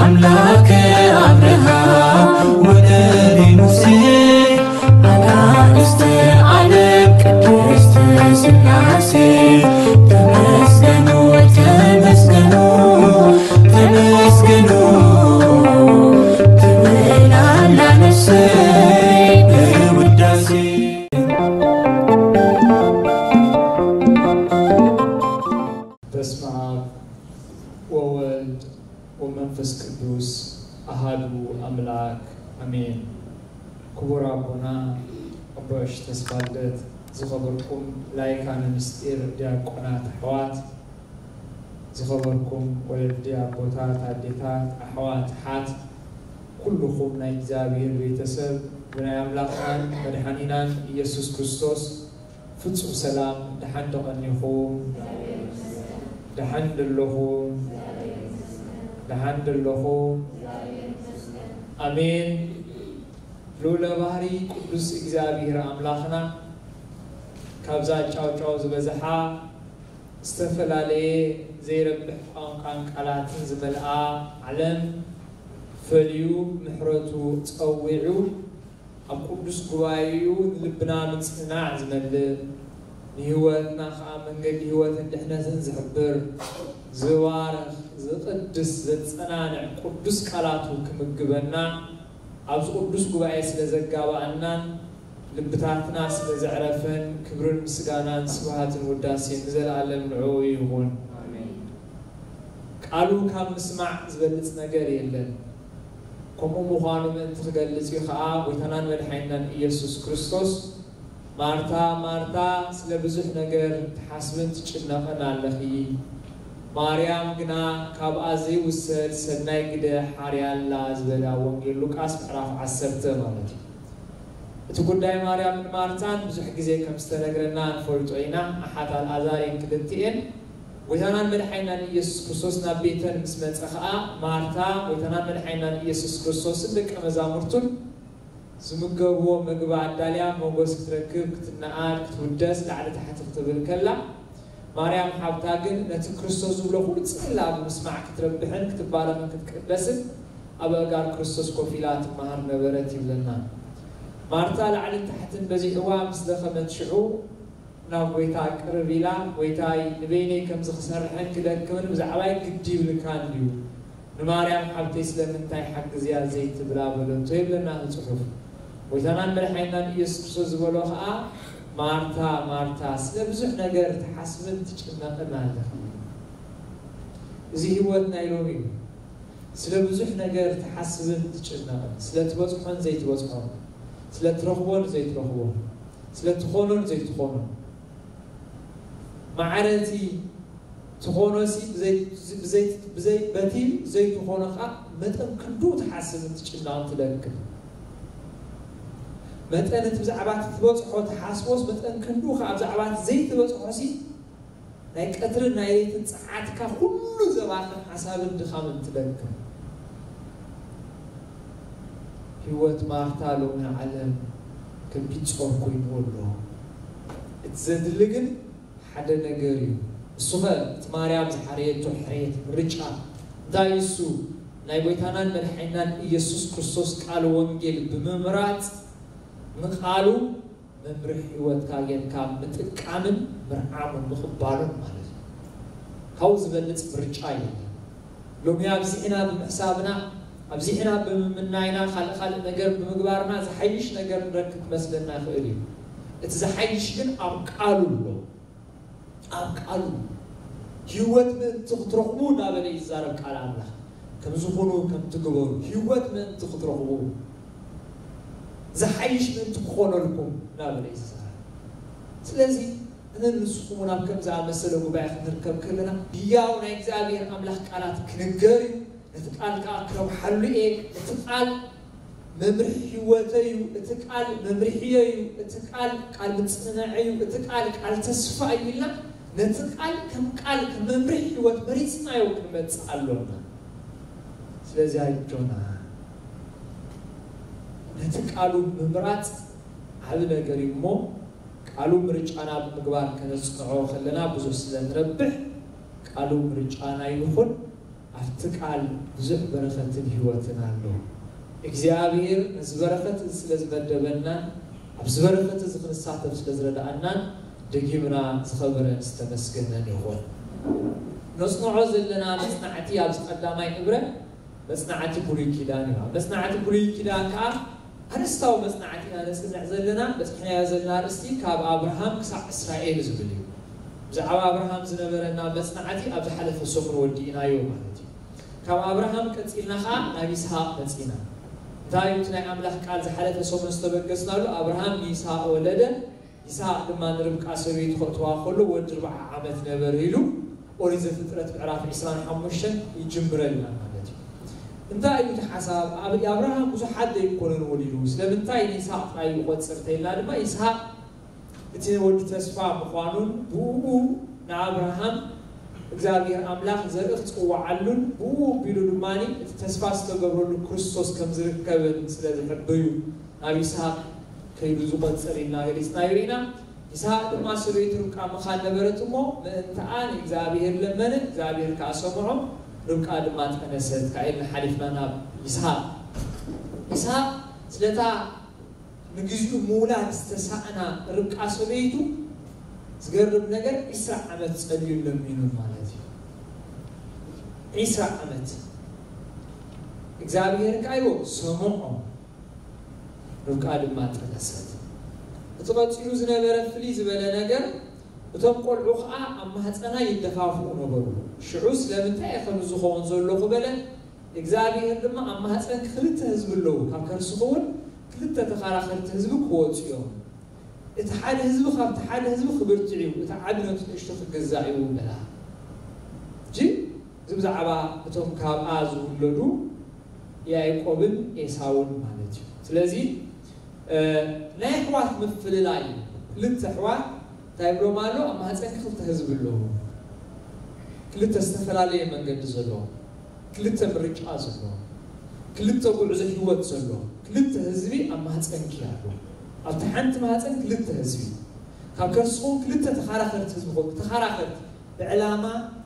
ኣምላከ ኣብርሃም ወደቤ ሙሴ ኣናእስተ ዓለም ቅድስት ሥላሴ ተመስገኑ ተመስገኑ ተመስገኑ ትብል ኣላ ነፍሰይ ብውዳሴ። በስመ አብ ወወልድ ወመንፈስ ቅዱስ አሃዱ አምላክ አሜን። ክቡር ኣቦና ኣቦሽ ተስፋልደት፣ ዝኸበርኩም ላይካነ ምስጢር ዲያቆናት ኣሕዋት፣ ዝኸበርኩም ወለዲ ኣቦታት ኣዴታት ኣሕዋት ሓት፣ ኩልኹም ናይ እግዚኣብሔር ቤተሰብ ብናይ ኣምላኽናን መድሓኒናን ኢየሱስ ክርስቶስ ፍጹም ሰላም ደሓን ደቐኒኹም? ደሓን ደለኹም? ደሓን ደለኹም? ኣሜን። ልዑለ ባህሪ ቅዱስ እግዚኣብሔር ኣምላኽና ካብዛ ጫውጫው ዝበዝሓ ዝተፈላለየ ዘይረብሕ ቋንቋን ቃላትን ዝመልኣ ዓለም ፈልዩ ምሕረቱ ጸዊዑ ኣብ ቅዱስ ጉባኤኡ ንልብና ምጽንናዕ ዝመልእ፣ ንህይወትና ኸኣ መንገዲ ህይወትን ድሕነትን ዝሕብር፣ ዝባርኽ፣ ዝቕድስ፣ ዘጸናንዕ ቅዱስ ቃላቱ ክምግበና ኣብዚ ቅዱስ ጉባኤ ስለ ዘጋባኣናን ልብታትና ስለ ዘዕረፈን ክብርን ምስጋናን ስብሃትን ውዳሴን ንዘለኣለም ንዕኡ ይኹን። ቃሉ ካብ ምስማዕ ዝበልጽ ነገር የለን። ከምኡ ምዃኑ ምእንቲ ክገልጽ እዩ ኸኣ ጎይታናን መድሓኒናን ኢየሱስ ክርስቶስ፣ ማርታ ማርታ፣ ስለ ብዙሕ ነገር ትሓስብን ትጭነቕን ኣለኺ፣ ማርያም ግና ካብኣ ዘይውሰድ ሰናይ ግደ ሓርያ ኣላ ዝበለ ኣብ ወንጌል ሉቃስ ምዕራፍ ዓሰርተ ማለት እዩ። እቲ ጉዳይ ማርያምን ማርታን ብዙሕ ግዜ ከም ዝተነግረና ንፈልጦ ኢና። ኣሓት ኣልኣዛር እየን ክልቲኤን። ጎይታናን መድሓኒናን ኢየሱስ ክርስቶስ ናብ ቤተን ምስ መጸ ኸኣ ማርታ ጎይታናን መድሓኒናን ኢየሱስ ክርስቶስን ደቀ መዛሙርቱን ዝምገብዎ መግቢ ኣዳልያ ሞገስ ክትረክብ ክትነኣድ ክትውደስ ላዕሊ ታሕቲ ክትብል ከላ፣ ማርያም ሓብታ ግን ነቲ ክርስቶስ ዝብሎ ኩሉ ጽን ኢላ ብምስማዕ ክትረብሕን ክትባረኽን ክትቅደስን ኣብ ኣእጋር ክርስቶስ ኮፍ ኢላ ትመሃር ነበረት ይብለና። ማርታ ላዕልን ታሕትን በዚሕዋ ምስ ደኸመት ሽዑ ናብ ጐይታ ቅርብ ኢላ፣ "ጐይታይ፣ ንበይነይ ከምዚ ክሰርሕን ክደክምን ብዛዕባይ ግዲ ይብልካ እንድዩ፣ ንማርያም ሓብተይ ስለምንታይ ሓግዝያ ዘይትብላ?" በለቶ ይብለና እቲ ጽሑፍ። ጐይታናን መድሓኒናን ኢየሱስ ክርስቶስ ዝበሎ ኸኣ፣ "ማርታ፣ ማርታ፣ ስለ ብዙሕ ነገር ትሓስብን ትጭነቕን ኣለኺ።" እዚ ህይወት ናይ ሎሚ እዩ። ስለ ብዙሕ ነገር ትሓስብን ትጭነቕን፣ ስለ ትበጽሖን ዘይትበጽሖን፣ ስለ ትረኽቦን ዘይትረኽቦን፣ ስለ ትኾኖን ዘይትኾኖን። ማዕረ እቲ ትኾኖሲ ብዘይ-፣ ብዘይ-፣ ብዘይ-፣ በቲ ዘይትኾኖ ኸኣ መጠን ክንዱ ትሓስብን ትጭነቕን ትደክም። መጠን እቲ ብዛዕባ እቲ ትበጽሖ ትሓስቦስ መጠን ክንዱ ኸኣ ብዛዕባ እቲ ዘይትበጽሖሲ ናይ ቀትርን ናይ ለይትን ጸዓትካ ኩሉ ዘባኽን ሓሳብን ድኻምን ትደክም። ህይወት ማርታ ሎሚ ዓለም ከቢድ ጾር ኮይንዎ ኣሎ። እቲ ዘድሊ ግን ሓደ ነገር እዩ። እሱ ኸ እቲ ማርያም ዝሓረየቶ ሕርየት፣ ምርጫ፣ እንታይ እዩ እሱ? ናይ ጐይታናን መድሓኒናን ኢየሱስ ክርስቶስ ቃል ወንጌል ብምምራጽ፣ ንቃሉ መምርሒ ህይወትካ ጌርካ ምጥቃምን ምርዓሙን ምቕባሉን ማለት እዩ። ካብኡ ዝበልጽ ምርጫ የለን። ሎሚ ኣብዚሕና ብምሕሳብና፣ ኣብዚሕና ብምምናይና፣ ካልእ ካልእ ነገር ብምግባርና ዝሓይሽ ነገር ንረክብ ክመስለና ይኽእል እዩ። እቲ ዝሓይሽ ግን ኣብ ቃሉ ኣሎ። ኣብ ቃሉ ህይወት ምእንቲ ክትረኽቡ እናበለ እዩ ዝዛረብ ቃል ኣምላኽ። ከምዚ ኩኑ፣ ከምቲ ግበሩ፣ ህይወት ምእንቲ ክትረኽቡ፣ ዝሓይሽ ምእንቲ ክኾነልኩም እናበለ እዩ ዝዛረብ። ስለዚ ኣነን ንስኹም እውን ኣብ ከምዚ ዝኣመሰለ ጉባኤ ክንርከብ ከለና ህያው ናይ እግዚኣብሔር ኣምላኽ ቃላት ክንገር እዩ። ነቲ ቃል ከኣ ክረብሓሉ እየ። እቲ ቃል መምርሒ ህይወተይ እዩ። እቲ ቃል መምርሒየይ እዩ። እቲ ቃል ቃል ምጽንናዐይ እዩ። እቲ ቃል ቃል ተስፋ እዩ ኢልና ነቲ ቃል ከም ቃል ከም መምርሒ ህይወት መሪጽናዮ ክንመጽእ ኣሎና። ስለዚ ኣጆና ነቲ ቃሉ ምምራጽ ዓቢ ነገር እዩ እሞ ቃሉ ምርጫና ብምግባር ከነጽንዖ ከለና ብዙሕ ስለ ንረብሕ ቃሉ ምርጫና ይኹን። ኣብቲ ቃል ብዙሕ በረኸትን ህይወትን ኣሎ። እግዚኣብሔር ነዚ በረኸት እዚ ስለ ዝመደበናን ኣብዚ በረኸት እዚ ክንሳተፍ ስለ ዝረድኣናን ደጊምና ዝኸበረን ዝተመስገነን ይኹን። ነጽንዖ ዘለና መጽናዕቲ ኣብዚ ቀዳማይ እብረ መጽናዕቲ ብሉይ ኪዳን እዩ። ኣብ መጽናዕቲ ብሉይ ኪዳን ከኣ ኣርእስታዊ መጽናዕቲ ኢና ነጽንዕ ዘለና። በጽሕናዮ ዘለና ኣርእስቲ ካብ ኣብርሃም ክሳዕ እስራኤል ዝብል እዩ። ብዛዕባ ኣብርሃም ዝነበረና መጽናዕቲ ኣብ ዝሓለፈ ሰሙን ወዲእናዮ ማለት እዩ። ካብ ኣብርሃም ቀጺልና ከኣ ናብ ይስሃቅ መጺና። እንታይ እዩ እቲ ናይ ኣምላኽ ቃል ዝሓለፈ ሰሙን ዝተበገስናሉ? ኣብርሃም ንይስሃቅ ወለደ፣ ይስሃቅ ድማ ንርብቃ ሰበይቱ ከእትዋ ከሎ ወዲ ኣርብዓ ዓመት ነበረ ኢሉ ኦሪት ዘፍጥረት ምዕራፍ ዕስራን ሓሙሽተን ይጅምረልና ማለት እዩ። እንታይ እዩ እቲ ሓሳብ? ኣብ ኣብርሃም ብዙሓት ዘይኮነን ወሊዱ። ስለምንታይ ንይስሃቅ ጥራይ ይቆጽር ተይልና ድማ ይስሃቅ እቲ ወዲ ተስፋ ምዃኑን ብኡ ንኣብርሃም እግዚኣብሔር ኣምላኽ ዘርኢ ክጽውዓሉን ብኡ ኣቢሉ ድማ እቲ ተስፋ ዝተገብረሉ ክርስቶስ ከም ዝርከብን ስለ ዝሕብር እዩ ናብ ይስሃቅ ከይዱ ዝቆጽር ኢልና ገሊጽናዮ ኢና። ይስሃቅ ድማ ሰበይቱ ርብቃ መኻን ነበረት እሞ ምእንትኣ ንእግዚኣብሔር ለመነ፣ እግዚኣብሔር ከኣ ሰምዖ፣ ርብቃ ድማ ጠነሰት። ካብ ኢልና ሓሊፍና ናብ ይስሃቅ። ይስሃቅ ስለታ ንግዚኡ ምውላድ ዝተሳእና ርብቃ ሰበይቱ ዝገርም ነገር ዒስራ ዓመት ጸልዩን ለሚኑን ማለት እዩ። ዒስራ ዓመት እግዚኣብሔር ከኣ ይዎ ሰምዖ፣ ርብቃ ድማ ጠነሰት። እቲ ቀጺሉ ዝነበረ ፍልይ ዝበለ ነገር እቶም ቆልዑ ከኣ ኣብ ማህጸና ይደፋፍኡ ነበሩ። ሽዑ ስለምንታይ እየ ከምዚ ዝኸውን ዘለኹ በለ። እግዚኣብሔር ድማ ኣብ ማህፀንኪ ክልተ ህዝቢ ኣለዉ፣ ካብ ከርስኺ እውን ክልተ ተኸራኸርቲ ህዝቢ ክወፁ እዮም። እቲ ሓደ ህዝቢ ካብቲ ሓደ ህዝቢ ክብርትዕ እዩ፣ እቲ ዓቢ ነቲ ንእሽቶ ክገዛእ እዩ በላ። እጂ እዚ ብዛዕባ እቶም ካብኣ ዝውለዱ ያዕቆብን ኤሳውን ማለት እዩ። ስለዚ ናይ ኣሕዋት ምፍልላይ እዩ። ክልተ ኣሕዋት እንታይ ይብሎም ኣሎ? ኣብ ማህፀንኪ ክልተ ህዝቢ ኣለዉ። ክልተ ዝተፈላለየ መንገዲ ዘለዎ፣ ክልተ ምርጫ ዘለዎ፣ ክልተ ጉዕዞ ህይወት ዘለዎ ክልተ ህዝቢ ኣብ ማህፀንኪ ኣሎ። ኣብቲ ሓንቲ ማህፀን ክልተ ህዝቢ፣ ካብ ከርስኹም ክልተ ተኻራኸርቲ ህዝቢ ኾኑ። ተኻራኸርቲ ብዕላማ፣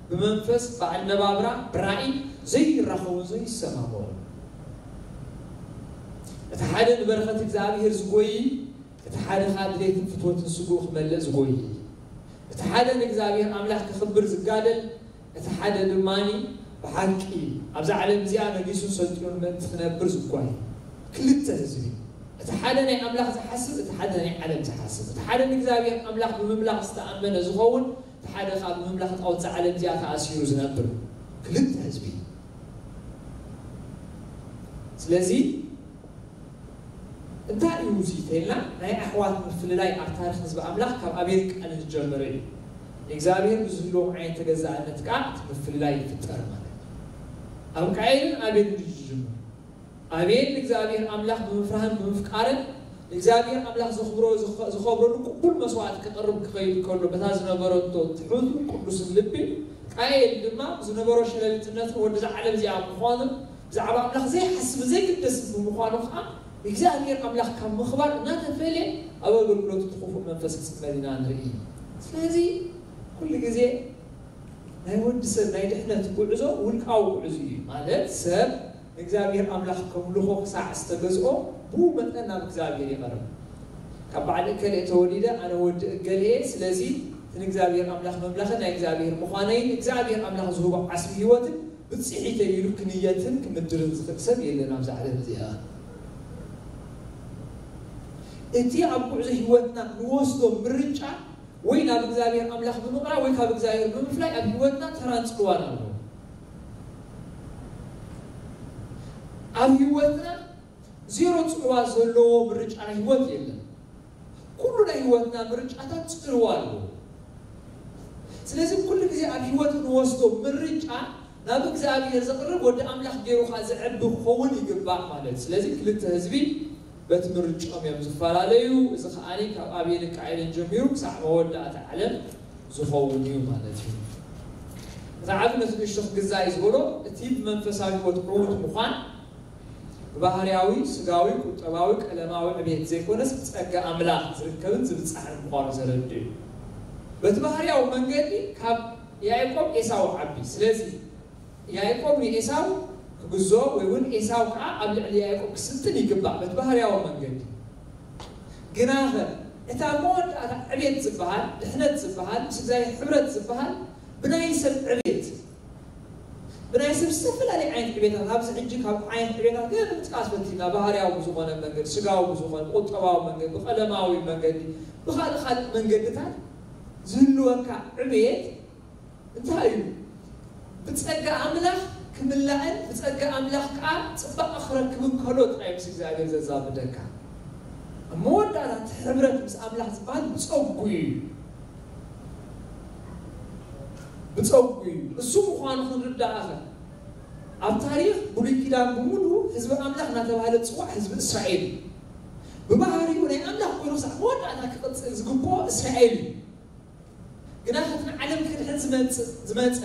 ብመንፈስ፣ ብኣነባብራ፣ ብራእይ ዘይራኸቡን ዘይሰማምዑ። እቲ ሓደ ንበረኸት እግዚኣብሔር ዝጎይ፣ እቲ ሓደ ኸዓ ድሌትን ፍትወትን ስግኡ ክመልእ ዝጎይ። እቲ ሓደ ንእግዚኣብሔር ኣምላኽ ክኽብር ዝጋደል፣ እቲ ሓደ ድማኒ ብሓቂ ኣብዛ ዓለም እዚኣ ነጊሱን ሰልጢኑን ምእንቲ ክነብር ዝጓይ። ክልተ ህዝቢ፣ እቲ ሓደ ናይ ኣምላኽ ዝሓስብ፣ እቲ ሓደ ናይ ዓለም ዝሓስብ። እቲ ሓደ ንእግዚኣብሔር ኣምላኽ ብምምላኽ ዝተኣመነ ዝኸውን፣ እቲ ሓደ ኸዓ ብምምላኽ ጣዖት እዛ ዓለም እዚኣ ተኣሲሩ ዝነብር። ክልተ ህዝቢ። ስለዚ እንታይ እዩ እዚ ተይልና፣ ናይ ኣሕዋት ምፍልላይ ኣብ ታሪኽ ህዝቢ ኣምላኽ ካብ ኣቤል ቃይን ዝጀመረ እዩ። ንእግዚኣብሔር ብዝህልዎም ዓይነት ተገዛእነት ከኣ እቲ ምፍልላይ ይፍጠር ማለት እዩ። ኣብ ቃይንን ኣቤልን እዩ ዝጅምር። ኣቤል ንእግዚኣብሔር ኣምላኽ ብምፍራህን ብምፍቃርን ንእግዚኣብሔር ኣምላኽ ዘኽብሮ-፣ ዝኸ-፣ ዝኸብረሉ ቅቡል መስዋእቲ ክቕርብ ክኸይድ ከሎ በታ ዝነበረቶ ትሑትን ቅዱስን ልቢ፣ ቃየል ድማ ዝነበሮ ሸለልትነትን ወዲ እዛ ዓለም እዚኣ ምዃኑን ብዛዕባ ኣምላኽ ዘይሓስብን ዘይግደስን ብምዃኑ ኸዓ ንእግዚኣብሔር ኣምላኽ ካብ ምኽባር እናተፈልየ ኣብ ኣገልግሎቱ እቲ ክፉእ መንፈስ ክጽመድ ኢና ንርኢ። ስለዚ ኩሉ ግዜ ናይ ወዲ ሰብ ናይ ድሕነት ጉዕዞ ውልቃዊ ጉዕዞ እዩ። ማለት ሰብ ንእግዚኣብሔር ኣምላኽ ከምልኾ ክሳዕ ዝተገዝኦ ብኡ መጠን ናብ እግዚኣብሔር ይቐርብ። ካብ በዓል እከሌ ተወሊደ ኣነ ወዲ እገሌ እየ፣ ስለዚ እቲ ንእግዚኣብሔር ኣምላኽ ምምላኽን ናይ እግዚኣብሔር ምዃነይን እግዚኣብሔር ኣምላኽ ዝህቦ ዓስቢ ህይወትን ብጽሒተይ ኢሉ ክንየትን ክምድርን ዝኽእል ሰብ የለን ኣብዛ ዓለም እዚኣ። እቲ ኣብ ጉዕዞ ህይወትና ንወስዶ ምርጫ ወይ ናብ እግዚኣብሔር ኣምላኽ ብምቕራብ ወይ ካብ እግዚኣብሔር ብምፍላይ ኣብ ህይወትና ተራን ጽልዋን ኣለዎ። ኣብ ህይወትና ዜሮ ጽልዋ ዘለዎ ምርጫ ናይ ህይወት የለን። ኩሉ ናይ ህይወትና ምርጫታት ጽልዋ ኣለዎ። ስለዚ ኩሉ ግዜ ኣብ ህይወት ንወስዶ ምርጫ ናብ እግዚኣብሔር ዘቕርብ ወዲ ኣምላኽ ገይሩ ኸዓ ዘዕቢ ክኸውን ይግባእ ማለት። ስለዚ ክልተ ህዝቢ በቲ ምርጭኦም እዮም ዝፈላለዩ። እዚ ኸዓ ካብ ኣቤልን ቃኤልን ጀሚሩ ክሳዕ መወዳእታ ዓለም ዝኸውን እዩ ማለት እዩ። እቲ ዓቢ ነቲ ንእሽቶ ክግዛእ እዩ ዝበሎ፣ እቲ ብመንፈሳዊ ህይወት ዕዉት ምዃን ብባህርያዊ፣ ስጋዊ፣ ቁጠባዊ፣ ቀለማዊ ዕቤት ዘይኮነስ ብጸጋ ኣምላኽ ዝርከብን ዝብጻሕን ምዃኑ ዘረድእ እዩ። በቲ ባህርያዊ መንገዲ ካብ ያዕቆብ ኤሳው ዓቢ። ስለዚ ያዕቆብ ንኤሳው ክግዞ ወይ እውን ኤሳው ከዓ ኣብ ልዕሊ ያዕቆብ ክስልጥን ይግባእ በቲ ባህርያዊ መንገዲ። ግናኸ እታ መወዳእታ ዕቤት ዝበሃል፣ ድሕነት ዝበሃል፣ ምስ እግዚኣብሔር ሕብረት ዝበሃል ብናይ ሰብ ዕቤት፣ ብናይ ሰብ ዝተፈላለየ ዓይነት ዕቤታት፣ ኣብዚ ሕጂ ካብ ዓይነት ዕቤታት ገለ ንምጥቃስ ፈቲና፣ ባህርያዊ ብዝኾነ መንገዲ፣ ስጋዊ ብዝኾነ፣ ብቁጠባዊ መንገዲ፣ ብቀለማዊ መንገዲ፣ ብኻልእ ካልእ መንገድታት ዝህልወካ ዕቤት እንታይ እዩ? ብጸጋ ኣምላኽ ክምላእን ብጸጋ ኣምላኽ ከዓ ጽባቐ ክረክብን ከሎ ጥራይ ምስ እግዚኣብሔር ዘዛምደካ። ኣብ መወዳእታ እቲ ሕብረት ምስ ኣምላኽ ዝበሃል ብጸጉ እዩ። ብጸጉ እዩ። እሱ ምዃኑ ክንርዳእ ኸ፣ ኣብ ታሪኽ ብሉይ ኪዳን ብምሉኡ ህዝቢ ኣምላኽ እናተባህለ ዝጽዋዕ ህዝቢ እስራኤል እዩ። ብባህሪኡ ናይ ኣምላኽ ኮይኑ ክሳዕ መወዳእታ ክቕጽል ዝግብኦ እስራኤል እዩ። ግና እቲ ንዓለም ክድሕን ዝመጽእ፣ ዝመጸ፣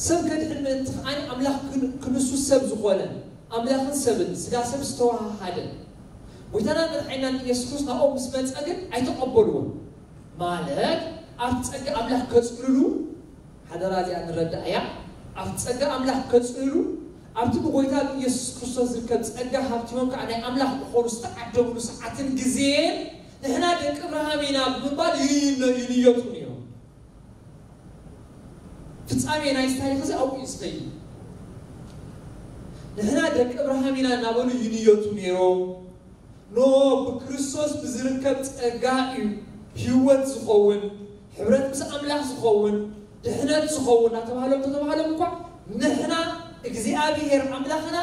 ሰብ ከድሕን ምእንቲ ከኣ ኣምላኽ ክን-፣ ክንሱ ሰብ ዝኾነ፣ ኣምላኽን ሰብን፣ ስጋ ሰብ ዝተዋሃሃደ፣ ጎይታናን መድሓኒናን ኢየሱስ ክርስቶስ ናብኦም ምስ መጸ ግን ኣይተቐበልዎን። ማለት ኣብቲ ጸጋ ኣምላኽ ከጽልሉ፣ ሓደራ እዚኣ ንረዳእ እያ። ኣብቲ ጸጋ ኣምላኽ ከጽልሉ፣ ኣብቲ ብጎይታ ብኢየሱስ ክርስቶስ ዝርከብ ጸጋ ሃብቲሞም ከኣ ናይ ኣምላኽ ክኾኑ ዝተዓደሙሉ ሰዓትን ግዜን ንሕና ደቂ እብርሃም ኢና ብምባል ይንዮ-፣ ይንየቱ ነይሮም። ፍጻሜ ናይዚ ታሪኽ እዚ ኣብኡ እዩ ዝኸይድ። ንሕና ደቂ እብርሃም ኢና እናበሉ ይንየቱ ነይሮም። ኖ ብክርስቶስ ብዝርከብ ጸጋ እዩ ህይወት ዝኸውን፣ ሕብረት ምስ ኣምላኽ ዝኸውን፣ ድሕነት ዝኸውን እናተባህሎም ተተባህሎም እኳ፣ ንሕና እግዚኣብሔር ኣምላኽና፣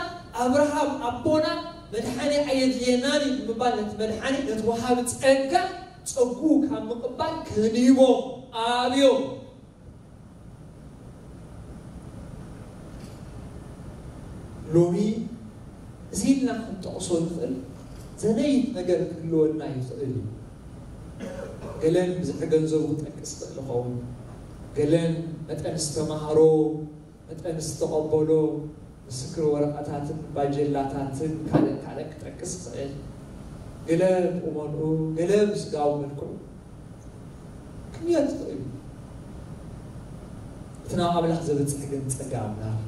ኣብርሃም ኣቦና፣ መድሓኒ ኣየድልየናን እዩ ብምባል ነቲ መድሓኒ፣ ነቲ ወሃቢ ጸጋ፣ ጸጉኡ ካብ ምቕባል ከንሂቦም ኣብዮም። ሎሚ እዚ ኢልና ክንጠቕሶ ንኽእል ዘነይት ነገር ክህልወና ይኽእል እዩ። ገለን ብዝሒ ገንዘቡ ክጠቅስ ይኽእል ይኸውን። ገለን መጠን ዝተማህሮ፣ መጠን ዝተቐበሎ ምስክር ወረቐታትን ባጀላታትን ካልእ ካልእ ክጠቅስ ይኽእል። ገለ ብቁመንኡ፣ ገለ ብስጋዊ መልክዑ ክምየት ይኽእል እዩ። እቲ ናብ ኣምላኽ ዘብጽሕ ግን ጸጋ ኣምላኽ እዩ።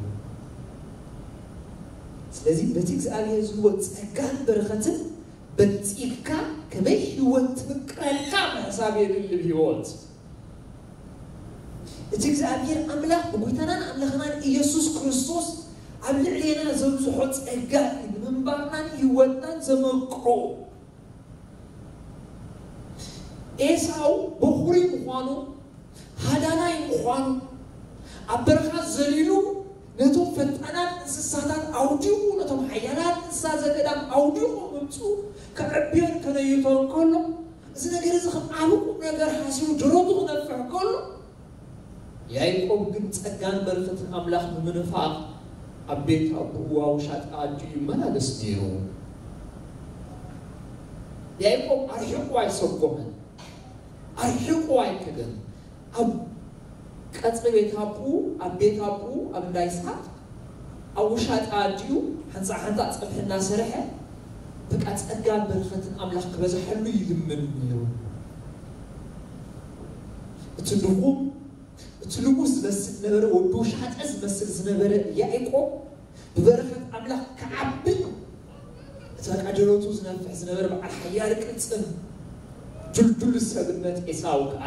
ስለዚ በቲ እግዚኣብሔር ዝህቦ ጸጋን በረኸትን በልጺግካ ከመይ ህይወት ትምቅረልካ ምሕሳብ የድሊ። ህይወት እቲ እግዚኣብሔር ኣምላኽ ብጎይታናን ኣምላኽናን ኢየሱስ ክርስቶስ ኣብ ልዕሌና ዘብዝሖ ጸጋ እዩ ንምንባርናን ህይወትናን ዘመቅሮ። ኤሳው በኹሪ ምዃኑ፣ ሃዳናይ ምዃኑ፣ ኣብ በረኻ ዘሊሉ ነቶም ፈጣናት እንስሳታት ኣውዲቑ፣ ነቶም ሓያላት እንስሳ ዘገዳም ኣውዲቑ ምምጽኡ ከዕብዮን ከነይቶን ከሎ፣ እዚ ነገር እዚ ከም ዓቢ ቁም ነገር ሓሲቡ ደረቱ ክነፍሕ ከሎ፣ ያዕቆብ ግን ጸጋን በረኸትን ኣምላኽ ብምንፋቕ ኣብ ቤት ኣቦኡ ኣብ ውሻጠ ኣዲኡ ይመላለስ ነይሩ። ያዕቆብ ኣርሒቑ ኣይሰጎመን፣ ኣርሒቑ ኣይከደን። ኣብ ቀጽሪ ቤት ኣቦኡ፣ ኣብ ቤት ኣቦኡ፣ ኣብ እንዳ ይስሓቅ፣ ኣብ ውሻጠ ኣዲኡ ሓንሳእ ሓንሳእ ጸብሒ እናሰርሐ፣ በቃ ጸጋን በረኸትን ኣምላኽ ክበዝሐሉ ይልምን ነይሩ። እቲ ድኹም፣ እቲ ልሙስ ዝመስል ዝነበረ፣ ወዲ ውሻጠ ዝመስል ዝነበረ ያዕቆብ፣ ብበረኸት ኣምላኽ ክዓቢ፣ እቲ በቃ ደረቱ ዝነፍሕ ዝነበረ በዓል ሓያል ቅልጽም፣ ድልዱል ሰብነት ኤሳው ከኣ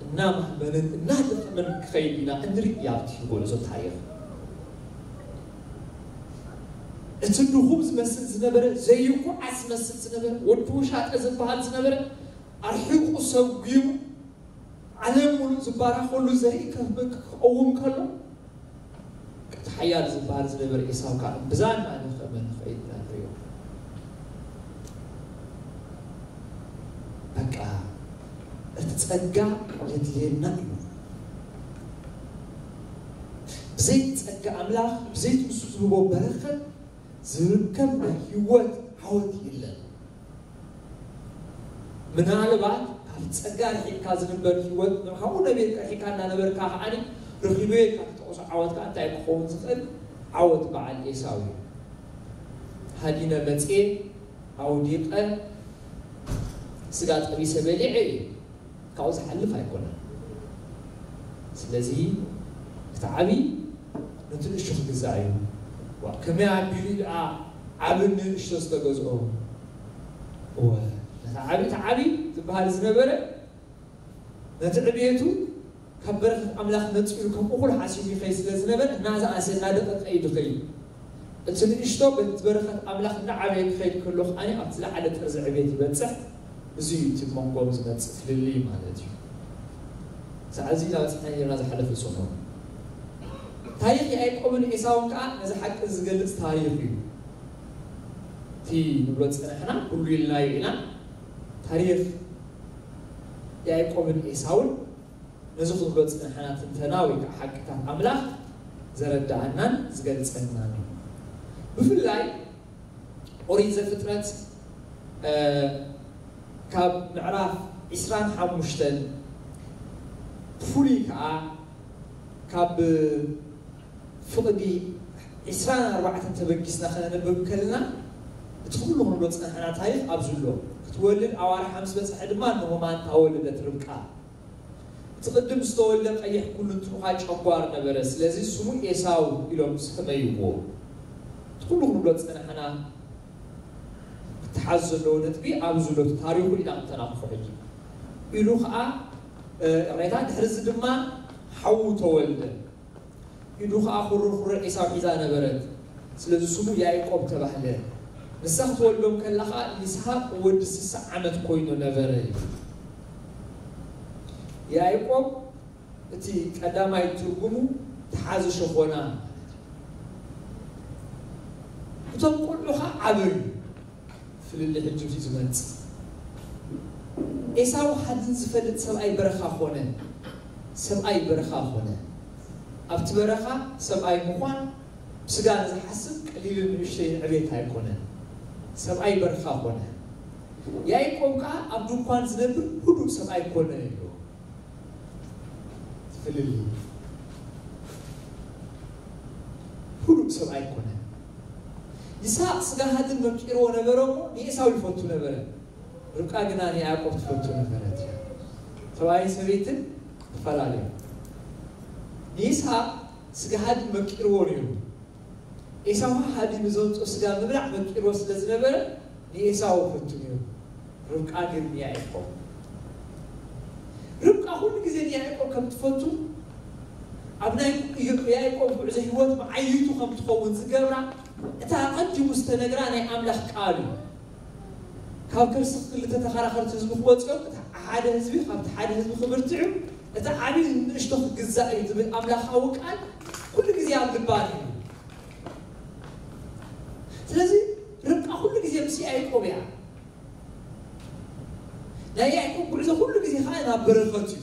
እናማህመንን እናደኸመን ክኸይድ ኢና እንርኢ ኣብቲ ጉዕዞ ታሪኽ። እቲ ድኹም ዝመስል ዝነበረ፣ ዘይጉዓዝ ዝመስል ዝነበረ፣ ወዲ ውሻጠ ዝበሃል ዝነበረ፣ ኣርሒቑ ሰጒሙ፣ ዓለም ሙሉእ ዝባረኸሉ ዘርኢ ከ-፣ ክቐውም ከሎ፣ እቲ ሓያል ዝበሃል ዝነበረ ኤሳው ከኣ እምብዛ እናደኸመ ንኸይድ ኢና ንርእዮ። በቃ፣ እቲ ጸጋ የድልየና እዩ። ብዘይ ጸጋ ኣምላኽ፣ ብዘይ ንሱ ዝህቦ በረኸት ዝርከብ ናይ ህይወት ዓወት የለን። ምናልባት ካብ ጸጋ ርሒቕካ ዝንበር ህይወት፣ ካብኡ ነቢርካ ርሒቕካ እናነበርካ ከኣ ረኺበዮ ኢልካ ትጠቕሶ ዓወት ከኣ እንታይ ክኸውን ዝኽእል? ዓወት በዓል ኤሳው እዩ። ሃዲነ መጽየ፣ ኣውዲቐ፣ ስጋ ጠቢሰ በሊዐ እዩ። ካብኡ ዝሓልፍ ኣይኮነን። ስለዚ እቲ ዓቢ ነቲ ንእሽቶ ክግዛእ እዩ። ዋ፣ ከመይ ኣቢሉ ደኣ ዓብን ንእሽቶ ዝተገዝኦ? እወ፣ ነቲ ዓቢ፣ እቲ ዓቢ ዝበሃል ዝነበረ ነቲ ዕብየቱ ካብ በረኸት ኣምላኽ መጺኡ ከም እኹል ሓሲቡ ይኸይድ ስለ ዝነበረ፣ እናዝኣሰ እናደቐቀ እዩ ዝኸይድ። እቲ ንእሽቶ በቲ በረኸት ኣምላኽ እናዓበየ ክኸይድ ከሎ ከኣ ኣብቲ ዝለዓለ ጥርዚ ዕብየት ይበጽሕ። እዚ እዩ እቲ መንጎም ዝመጽእ ፍልልይ ማለት እዩ። ሰዓዚ እናበጽሕና ነርና ዝሓለፈ ሰሙን። ታሪኽ ያዕቆብን ኤሳውን ከኣ ነዚ ሓቂ ዝገልጽ ታሪኽ እዩ። እቲ ንብሎ ዝጸናሕና ኩሉ ኢልናዮ ኢና። ታሪኽ ያዕቆብን ኤሳውን ነዚ ክንብሎ ዝጸናሕና ትንተና ወይ ከዓ ሓቅታት ኣምላኽ ዘረድኣናን ዝገልጸልናን እዩ። ብፍላይ ኦሪት ዘፍጥረት፣ እ፣ ካብ ምዕራፍ ዕስራን ሓሙሽተን ብፍሉይ ከዓ ካብ ፍቕዲ ዕስራን ኣርባዕተን ተበጊስና ከነንብብ ከለና፣ እቲ ኩሉ ክንብሎ ዝጸናሕና ታሪኽ ኣብዚ ኣሎ። ክትወልድ ኣዋርሓ ምስ በጽሐ ድማ እንሆ ማንታ ወለደት ርብቃ። እቲ ቅድም ዝተወልደ ቀይሕ ኩሉ እንትኑኻ ጨጓር ነበረ፣ ስለዚ ስሙ ኤሳው ኢሎም ሰመይዎ። እቲ ኩሉ ክንብሎ ዝጸናሕና ክተሓዝ ዘለዎ ነጥቢ ኣብዚ ኣሎ፣ እቲ ታሪኹ ኢና ክተናኽፎ ሕጂ። ኢሉ ኸኣ፣ እ፣ ሬታ ድሕሪ እዚ ድማ ሓዉ ተወልደ። ኢዱ ኸኣ ኹርኹረ ኤሳው ሒዛ ነበረት፣ ስለዚ ስሙ ያዕቆብ ተባህለ። ንሳ ክትወልዶም ከላ ኸኣ ይስሐቅ ወዲ ስሳ ዓመት ኮይኑ ነበረ። ያዕቆብ እቲ ቀዳማይ ትርጉሙ ተሓዚ ሸኾና ማለት እዩ። እቶም ቆልዑ ኸኣ ዓበዩ። ፍልልይ ሕጂ እዩ ዝመጽእ። ኤሳው ሓድን ዝፈልጥ ሰብኣይ በረኻ ኾነ። ሰብኣይ በረኻ ኾነ። ኣብቲ በረኻ ሰብኣይ ምዃን ብስጋ ንዝሓስብ ቀሊልን ንእሽተይን ዕቤት ኣይኮነን። ሰብኣይ በረኻ ኾነ። ያዕቆብ ከኣ ኣብ ድንኳን ዝነብር ህዱእ ሰብኣይ ኮነ ኢሉ። ፍልልይ። ህዱእ ሰብኣይ ኮነ። ይስሐቅ ስጋ ሃድን መቂርዎ ነበረ እሞ ንኤሳው ይፈቱ ነበረ። ርብቃ ግና ንያዕቆብ ትፈቱ ነበረት። ሰብኣይን ሰበይትን ይፈላለዩ። ንይስሐቅ ስጋ ሃድን መቂርዎ ነይሩ። ኤሳው ሃዲ ንዘምጾ ስጋ ምብላዕ መቂርዎ ስለ ዝነበረ ንኤሳው ፈቱ ነይሩ። ርብቃ ግን ንያዕቆብ። ርብቃ ኩሉ ግዜ ንያዕቆብ ከም ትፈቱ፣ ኣብ ናይ ያዕቆብ ጉዕዞ ህይወት መዓይቱ ከም ትኸውን ዝገብራ፣ እታ ኣቐዲሙ ዝተነግራ ናይ ኣምላኽ ቃል እዩ። ካብ ከርሲ ክልተ ተኸራኸርቲ ህዝቢ ክወጽኦም፣ እቲ ሓደ ህዝቢ ካብቲ ሓደ ህዝቢ ክብርትዑ፣ እቲ ዓብዪ ንእሽቶ ክግዛእ እዩ ዝብል ኣምላኻዊ ቃል ኩሉ ግዜ ኣብ ልባ ነይሩ። ስለዚ ርብቃ ኩሉ ግዜ ምስ ያዕቆብ እያ። ናይ ያዕቆብ ጉዕዞ ኩሉ ግዜ ከዓ ናብ በረኸት እዩ።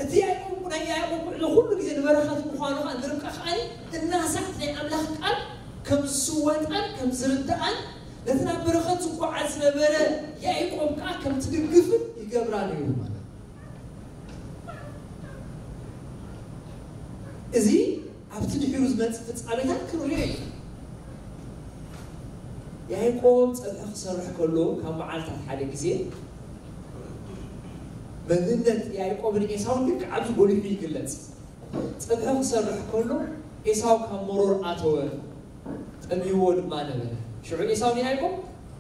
እቲ ያዕቆብ፣ ናይ ያዕቆብ ጉዕዞ ኩሉ ግዜ ንበረኸት ምዃኑ ከዓ ንርብቃ ከዓ እናሳት ናይ ኣምላኽ ቃል ከም ዝስወጣን ከም ዝርድኣን፣ ነቲ ናብ በረኸት ዝጓዓዝ ዝነበረ ያዕቆብ ከዓ ከም ትድግፍን ይገብራ ነይሩ ማለት እዩ። እዚ ኣብቲ ድሒሩ ዝመጽእ ፍጻሜታት ክንሪኦ ኢና። ያዕቆብ ጸብሒ ክሰርሕ ከሎ ካብ መዓልታት ሓደ ግዜ መንነት ያዕቆብን ኤሳውን ልክዕ ኣብዚ ጎሊሑ ይግለጽ። ጸብሒ ክሰርሕ ከሎ ኤሳው ካብ መሮር ኣተወ፣ ጠምይዎ ድማ ነበረ። ሽዑ ኤሳው ንያዕቆብ፣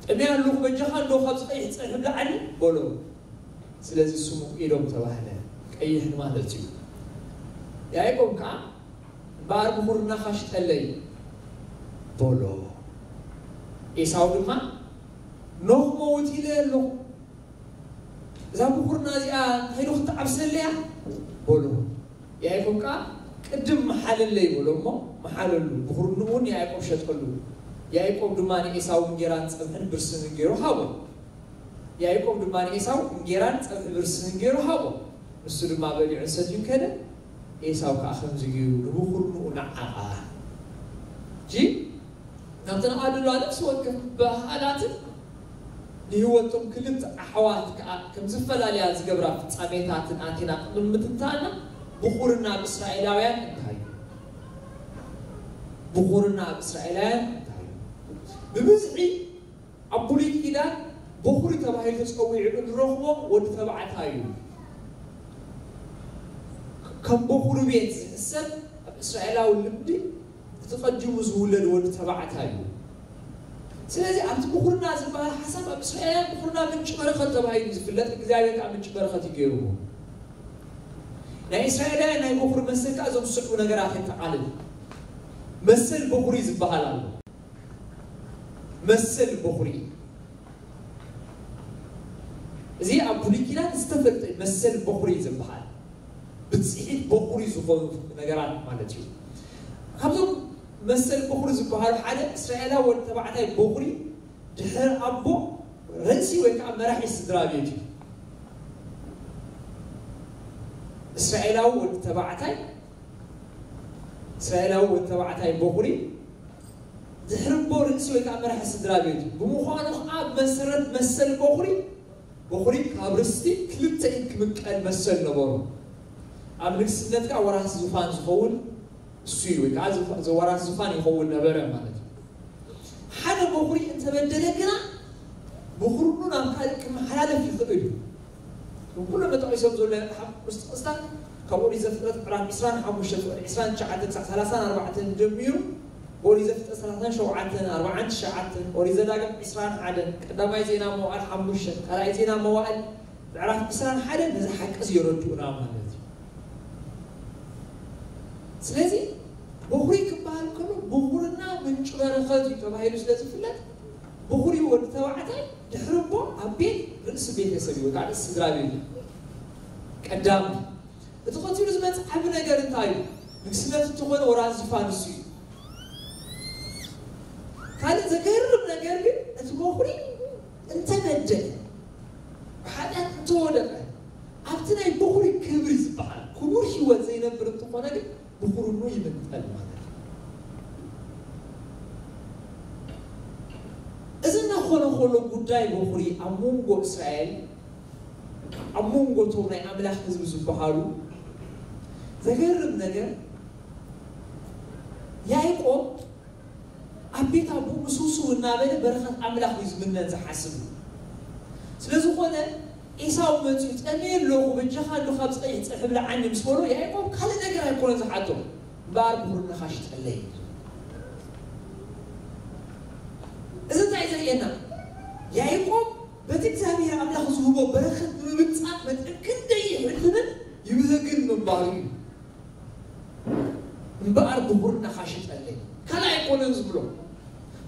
"ጠምየ ኣለኹ፣ በጃኻ እንዶ ካብዚ ቀይሕ ጸብሒ ብልዓኒ" በሎ። ስለዚ ስሙ ኤዶም ተባህለ፣ ቀይሕ ማለት እዩ። ያዕቆብ ከኣ፣ "እምበኣር ብኹርናኻ ሽጠለይ" በሎ። ኤሳው ድማ፣ "ኖህ መውት ኢለ ኣለኹ፣ እዛ ብኹርና እዚኣ እንታይ ዶ ክትዓብሰለያ?" በሎ። ያዕቆብ ከኣ፣ "ቅድም መሓለለይ" በሎ እሞ መሓለሉ። ብኹርንኡ እውን ንያዕቆብ ሸጠሉ። ያዕቆብ ድማ ንኤሳው እንጌራን ጸብሕን ብርስንን ገይሩ ሃቦ። ያዕቆብ ድማ ንኤሳው እንጌራን ጸብሒ ብርስንን ገይሩ ሃቦ። ንሱ ድማ በሊዑን ሰትዩን ከደ። ኤሳው ከኣ ከምዚ ገይሩ ንብኹርንኡ ነዓቓ። እጂ ናብቲ ነቓ ድሎ ነፍሲ ወከፍ በሃላትን ንህይወቶም ክልተ ኣሕዋት ከኣ ከም ዝፈላለያ ዝገብራ ፍጻሜታትን ኣቲና ቅድሚ ምትንታና፣ ብኹርና ኣብ እስራኤላውያን እንታይ እዩ? ብኹርና ኣብ እስራኤላውያን እንታይ እዩ? ብብዝሒ ኣብ ብሉይ ኪዳን በኹሪ ተባሂሉ ተጸዊዑ እንረኽቦ ወዲ ተባዕታይ እዩ። ከም በኹሪ ቤት ዝሕሰብ ኣብ እስራኤላዊ ልምዲ እቲ ቀዲሙ ዝውለድ ወዲ ተባዕታይ እዩ። ስለዚ ኣብቲ ብኹርና ዝበሃል ሓሳብ ኣብ እስራኤላውያን ብኹርና ምንጪ በረኸት ተባሂሉ ዝፍለጥ፣ እግዚኣብሔር ከዓ ምንጪ በረኸት እዩ ገይርዎ። ናይ እስራኤላውያን ናይ በኹሪ መሰል ከዓ እዞም ዝስዕቡ ነገራት የጠቓልል። መሰል በኹሪ ዝበሃል ኣሎ። መሰል በኹሪ፣ እዚ ኣብ ብሉይ ኪዳን ዝተፈልጠ መሰል በኹሪ ዝበሃል ብፅሒት በኹሪ ዝኾኑ ነገራት ማለት እዩ። ካብዞም መሰል በኹሪ ዝበሃሉ ሓደ እስራኤላዊ ወዲ ተባዕታይ በኹሪ ድሕሪ ኣቦ ርእሲ ወይ ከዓ መራሒ ስድራ ቤት እዩ። እስራኤላዊ ወዲ ተባዕታይ እስራኤላዊ ወዲ ተባዕታይ በኹሪ ድሕሪ ኣቦ ርእሲ ወይ ከዓ መራሒ ስድራ ቤት እዩ። ብምዃኑ ከዓ ብመሰረት መሰል በኹሪ በኹሪ ካብ ርስቲ ክልተ ኢድ ክምቀል መሰል ነበሩ። ኣብ ንግስነት ከዓ ወራሲ ዙፋን ዝኸውን እሱ እዩ፣ ወይ ከዓ ዝፋ- ዘዋራሲ ዙፋን ይኸውን ነበረ ማለት እዩ። ሓደ በኹሪ እንተበደለ ግና በኹርኑ ናብ ካልእ ክመሓላለፍ ይኽእል እዩ። ኩሎም ተጠቒሶም ዘሎ ሓ- ጥቕስታት ካብ ኦሪት ዘፍጥረት ምዕራፍ ዕስራን ሓሙሽተን ፍቕዲ ዕስራን ትሽዓተን ክሳብ ሰላሳን ኣርባዕተን ጀሚሩ ኦሪት ዘፍጥረት ሰላሳን ሸውዓተን ኣርባዓን ትሽዓተን ኦሪት ዘዳግም ዕስራን ሓደን ቀዳማይ ዜና መዋዕል ሓሙሽተን ካልኣይ ዜና መዋዕል ምዕራፍ ዕስራን ሓደን ነዚ ሓቂ እዚ የረድኡና ማለት እዩ። ስለዚ በኹሪ ክበሃል ከሎ በኹርና ምንጪ በረኸት እዩ ተባሂሉ ስለ ዝፍለጥ በኹሪ ወዲ ተባዕታይ ድሕሪ ኣቦ ኣብ ቤት ርእሲ ቤተሰብ እዩ ወይ ከዓ ርእሲ ስድራ ቤት እዩ። ቀዳም እቲ ቀፂሉ ዝመፅእ ዓቢ ነገር እንታይ እዩ? ንግስነት እንተኾነ ወራሲ ዙፋን እሱ እዩ። ካልእ ዘገርም ነገር ግን እቲ በኹሪ እንተበደለ ብሓጢኣት እንተወደቐ ኣብቲ ናይ በኹሪ ክብሪ ዝበሃል ክቡር ህይወት ዘይነብር እንተኾነ ግን ብኹርኑ ይምንጠል ማለት እዩ። እዚ እናኾነ ከሎ ጉዳይ በኹሪ ኣብ መንጎ እስራኤል ኣብ መንጎ እቶም ናይ ኣምላኽ ህዝቢ ዝበሃሉ ዘገርም ነገር ያዕቆብ ኣብ ቤት ኣቦኡ ምስውስው እናበለ በረኸት ኣምላኽ እዩ ዝምነን ዝሓስብ። ስለ ዝኾነ ኤሳው መፂኡ ጠምየ ኣለኹ በጃኻ እንዶ ካብ ፀይሕ ፀብሒ ብልዓኒ ምስ በሎ ያዕቆብ ካልእ ነገር ኣይኮነን ዝሓቶ እምበኣር ብኹርንኻ ሽጠለይ። እዚ እንታይ ዘርእየና? ያዕቆብ በቲ እግዚኣብሔር ኣምላኽ ዝህቦ በረኸት ንምብጻእ መጠን ክንደይ ይሕልምን ይብህግን ምንባሩ እዩ። እምበኣር ብኹርናኻ ሽጠለይ ካልእ ኣይኮነን ዝብሎ።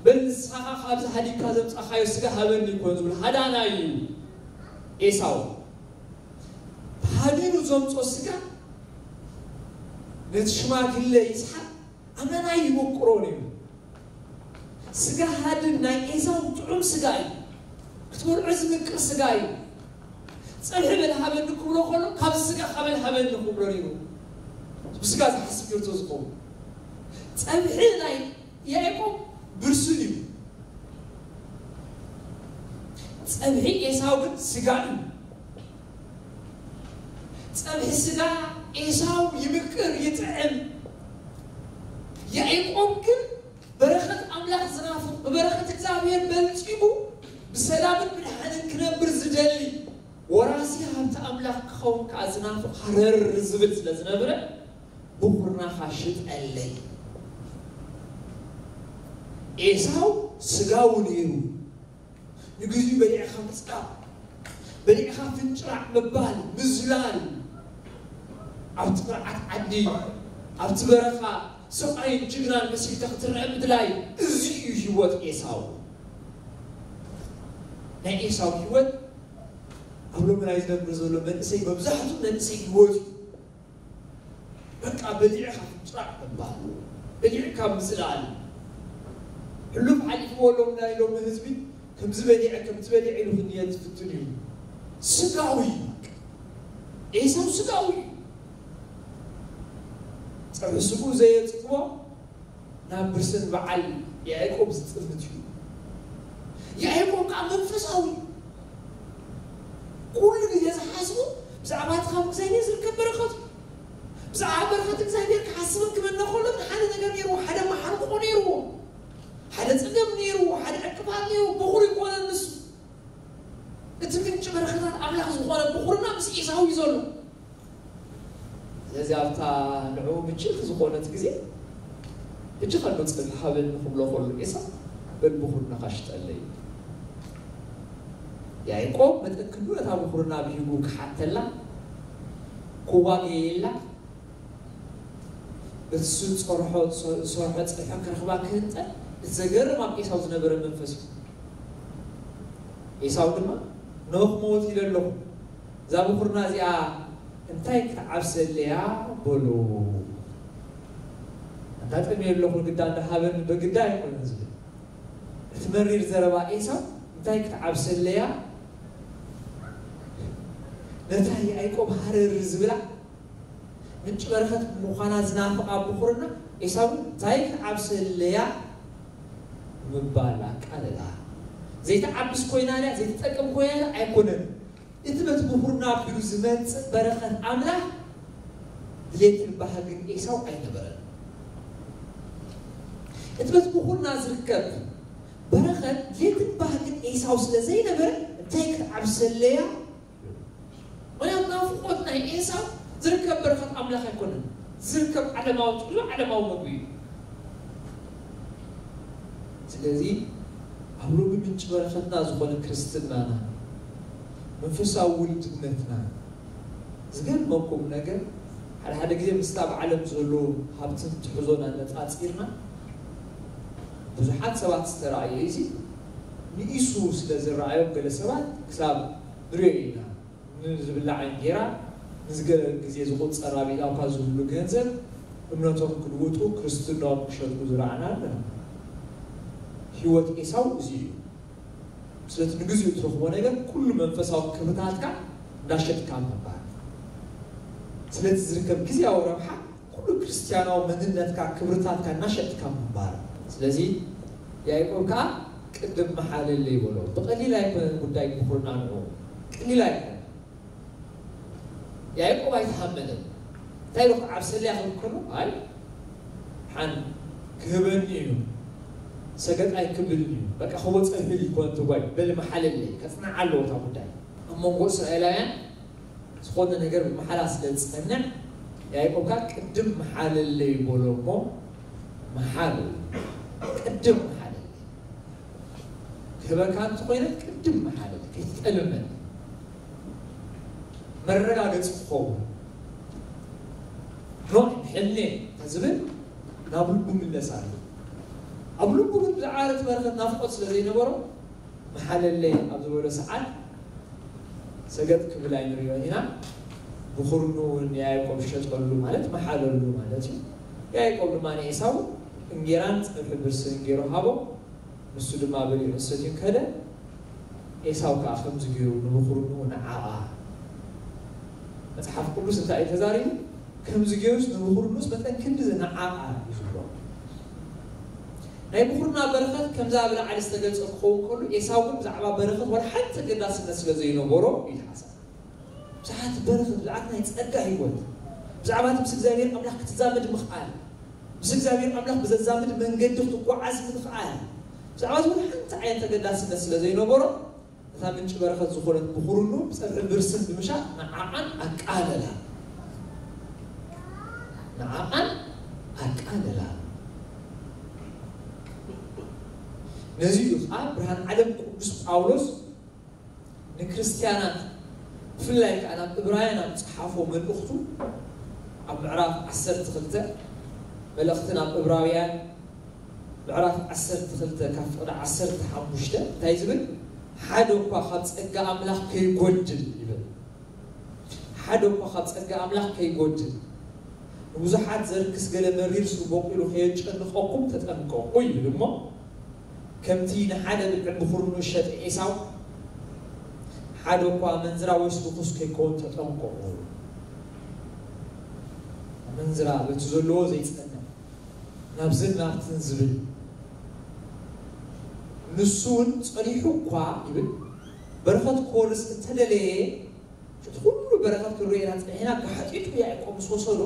በል ንስኻ ካብዚ ሃዲግካ ዘምጻኻዮ ስጋ ሃበኒ ይኮን ዝብል ሃዳናይ እዩ ኤሳው። ሃዲኑ ዘምጾ ስጋ ነቲ ሽማግለ ይስሓቅ ኣመና ይበቁሮ ነይሩ። ስጋ ሃድን ናይ ኤሳው ጥዑም ስጋ እዩ። ክትበልዖ ዝምቅር ስጋ እዩ። ጸብሒ በል ሃበኒ ክብሎ ከሎ ካብ ስጋ ካበል ሃበኒ ክብሎ ነይሩ። ብስጋ ዝሓስብ ገርቶ ዝኸውን ጸብሒ ናይ ያዕቆብ ብርሱን እዩ። ጸብሒ ኤሳው ግን ስጋ እዩ። ጸብሒ ስጋ ኤሳው ይምቅር ይጥዕም። ያዕቆብ ግን በረኸት ኣምላኽ ዝናፍቕ ብበረኸት እግዚኣብሔር በልጺጉ ብሰላምን ብድሓንን ክነብር ዝደሊ ወራሲ ሃብቲ ኣምላኽ ክኸውን ከዓ ዝናፍቕ ሃረር ዝብል ስለ ዝነብረ ብኹርናኻ ሽጠለይ። ኤሳው ስጋዊ ነይሩ። ንግዚኡ በሊዕኻ ምጽቃብ፣ በሊዕኻ ፍንጭራዕ ምባል፣ ምዝላል፣ ኣብቲ ቅርዓት ዓዲ፣ ኣብቲ በረኻ ሰብኣይን ጅግናን መሲልካ ክትረአ ምድላይ፣ እዚ እዩ ህይወት ኤሳው። ናይ ኤሳው ህይወት ኣብ ሎሚ ናይ ዝነብር ዘሎ መንእሰይ መብዛሕትኡ መንእሰይ ህይወት እዩ። በቃ በሊዕካ ፍንጭራዕ ምባል፣ በሊዕካ ምዝላል። ሕሉፍ ሓሊፍዎ ሎም ናይ ሎሚ ህዝቢ ከምዚ በሊዐ ከምዚ በሊዐ ኢሉ ክንየት ዝፍትን እዩ። ስጋዊ ኤሳው ስጋዊ እዩ። ጸብሒ ስግኡ ዘየጽግቦ ናብ ብርስን በዓል ያዕቆብ ዝጥምት እዩ። ያዕቆብ ከዓ መንፈሳዊ ኩሉ ግዜ ዝሓስቡ ብዛዕባ እቲ ካብ እግዚኣብሔር ዝርከብ በረኸት እዩ። ብዛዕባ በረኸት እግዚኣብሔር ክሓስብን ክመነ ከሎ ግን ሓደ ነገር ነይርዎ፣ ሓደ ማሕርቆ ነይርዎ፣ ሓደ ጸገም ነይርዎ፣ ሓደ ዕቅፋት ነይርዎ። በኹር ይኮነን ንሱ። እቲ ምንጪ በረኸታት ኣምላኽ ዝኾነ በኹርና ምስ ኤሳው እዩ ዘሎ። እዚ ኣብታ ንዕኡ ምችእቲ ዝኾነት ግዜ፣ ሕጂ ኸሎ ጽብሒ ሃበኒ ክብሎ ከሎ ኤሳው፣ በል ብኹርናኻ ሽጠለይ። ያዕቆብ መጠን ክንዱ ነታ ብኹርና ብሂጉ ክሓተላ፣ ክዋገየላ፣ በቲ ዝሰርሖ ዝሰርሖ ጽብሒ ክረኽባ ክህንጠ። እቲ ዘገርም ኣብ ኤሳው ዝነበረ መንፈስ እዩ። ኤሳው ድማ፣ ኖኽ ሞት ኢለ ኣለኹ፣ እዛ ብኹርና እዚኣ እንታይ ክትዓብሰለያ በሎ። ኣጋጠሚ ኣለኹ፣ ግዳ እንዳሃበኒ በግዳ ኣይኮነን ዝብል። እቲ መሪር ዘረባ ኤሳው እንታይ ክትዓብሰለያ፣ ነታ ያዕቆብ ሃረር ዝብላ ምንጭ በረኸት ምዃና ዝናፍቓ ብኹርና ኤሳው እንታይ ክትዓብሰለያ ምባል ኣቃለላ። ዘይትዓብስ ኮይና ድያ፣ ዘይትጠቅም ኮይና ድያ ኣይኮነን። እቲ በቲ ብኹርና ኣቢሉ ዝመጽእ በረኸት ኣምላኽ ድሌትን ባህግን ኤሳው ኣይነበረን። እቲ በቲ ብኹርና ዝርከብ በረኸት ድሌትን ባህግን ኤሳው ስለ ዘይነበረ እንታይ ክትዓብሰለያ? ምኽንያቱ ናፍቆት ናይ ኤሳው ዝርከብ በረኸት ኣምላኽ ኣይኮነን። ዝርከብ ዓለማዊ ጥቕሎ ዓለማዊ ምግቢ እዩ። ስለዚ ኣብ ሎሚ ምንጪ በረኸትና ዝኾነ ክርስትናና፣ መንፈሳዊ ውልድነትና፣ ዝገርመኩም ነገር፣ ሓደ ሓደ ግዜ ምስቲ ኣብ ዓለም ዘሎ ሃብትን ትሕዞን ኣነጻጺርና፣ ብዙሓት ሰባት ዝተራእየ እዚ ንኢሱ ስለ ዝረኣዮም፣ ገለ ሰባት ክሳብ ንሪኦ ኢና። ንዝብላዕ እንጌራ፣ ንዝገለ ግዜ ዝቑጸር ኣብ ኢዳውካ ዝህሉ ገንዘብ፣ እምነቶም ክልውጡ፣ ክርስትናኦም ክሸጡ ዝረኣና ኣለና። ህይወት ኤሳው እዚ እዩ። ስለቲ ንግዚኡ እትረኽቦ ነገር፣ ኩሉ መንፈሳዊ ክብርታትካ እንዳሸጥካ ምንባር። ስለቲ ዝርከብ ግዜያዊ ረብሓ፣ ኩሉ ክርስትያናዊ መንነትካ፣ ክብርታትካ እናሸጥካ ምንባር። ስለዚ ያዕቆብ ከኣ ቅድም መሓለለይ በሎ። ብቐሊል ኣይኮነን ጉዳይ ምኹርና ንዑ። ቀሊል ኣይኮነን። ያዕቆብ ኣይተሃመለን። እንታይ ኢሉ ክዓብሰለያ ክብል ከሎ፣ ኣይ፣ ሓን ክህበኒ እዩ፣ ሰገጥ ኣይክብልን እዩ፣ በቃ ክወፀ ይብል ይኮን ትጓይ፣ በል መሓለለይ፣ ከጽንዓ ኣለዎ እታ ጉዳይ። ኣብ መንጎ እስራኤላውያን ዝኾነ ነገር ብመሓላ ስለ ዝጸንዕ፣ ያዕቆብ ከኣ ቅድም መሓለለይ በሎ እሞ፣ መሓሉ፣ ቅድም መሓለለይ። ክህበካ እንተኾይነ ቅድም መሓለለይ፣ ከይትጠልመኒ። መረጋገጺ ክኸውን። ኖዕ፣ ሕልሜ ተዝብል ናብ ልቡ ምለስ ኣሎ። ኣብ ልቡ ግን ብዛዕባ እቲ በረኸት ናፍቆት ስለ ዘይነበሮ፣ መሓለለይ ኣብ ዝበሎ ሰዓት ሰገጥ ክብል ኣይንሪኦን ኢና። ብኹርኑ እውን ንያዕቆብ ሸጠሉ ማለት መሓለሉ ማለት እዩ። ያዕቆብ ድማ ንኤሳው እንጌራን ጸብሒ ብርስን ገይሩ ሃቦ። ንሱ ድማ በሊዑ ሰትዩ ከደ። ኤሳው ከኣ ከምዚ ገይሩ ንብኹርኑ ንዓቓ። መጽሓፍ ቅዱስ እንታይ እዩ ተዛሪቡ? ከምዚ ገይሩስ ንብኹርኑስ መጠን ክንድዚ ንዓቓ እዩ ዝብሎ። ናይ ብኹርና በረኸት ከምዛ ኣብ ላዕሊ ዝተገልጸ ክኸውን ከሎ፣ ኤሳው ግን ብዛዕባ በረኸት ዋላ ሓንቲ ተገዳስነት ስለ ዘይነበሮ እዩ ተሓሳቢ። ብዛዕባ እቲ በረኸት፣ ብዛዕባ ናይ ጸጋ ህይወት፣ ብዛዕባ እቲ ምስ እግዚኣብሔር ኣምላኽ ክትዛመድ ምኽኣል፣ ምስ እግዚኣብሔር ኣምላኽ ብዘዛምድ መንገዲ ክትጓዓዝ ምኽኣል፣ ብዛዕባ እዚ ሓንቲ ዓይነት ተገዳስነት ስለ ዘይነበሮ፣ ነታ ምንጪ በረኸት ዝኾነት ብኹርኑ ብጸብሒ ብርስን ብምሻጥ ንዓቓን ኣቃለላ። ንዓቓን ኣቃለላ። ነዚ እዩ ከዓ ብርሃን ዓለም ቅዱስ ጳውሎስ ንክርስትያናት፣ ብፍላይ ከዓ ናብ እብራውያን ኣብ ዝጸሓፎ መልእኽቱ፣ ኣብ ምዕራፍ ዓሰርተ ክልተ፣ መልእኽቲ ናብ እብራውያን ምዕራፍ ዓሰርተ ክልተ ካብ ፍቕዲ ዓሰርተ ሓሙሽተ እንታይ ዝብል? ሓደ እኳ ካብ ጸጋ ኣምላኽ ከይጎድል ይብል። ሓደ እኳ ካብ ጸጋ ኣምላኽ ከይጎድል፣ ንብዙሓት ዘርክስ ገለ መሪር ሱር በቂሉ ከየጨንቐኩም ተጠንቀቑ ይብል እሞ፣ ከምቲ ንሓደ ብልዒ ብኹርኑ ዝሸጠ ኤሳው፣ ሓደ እኳ ኣመንዝራ ወይስ ርኹስ ከይከውን ተጠንቀቑ። ኣመንዝራ በቲ ዘለዎ ዘይጸንዕ፣ ናብዝን ናብትን ዝብል፣ ንሱ እውን ጸኒሑ እኳ ይብል፣ በረኸት ክወርስ እንተደለየ፣ እቲ ኩሉ በረኸት ክንርእየና ጸኒሕና፣ ብሓጢጡ ያዕቆብ ምስ ወሰዶ፣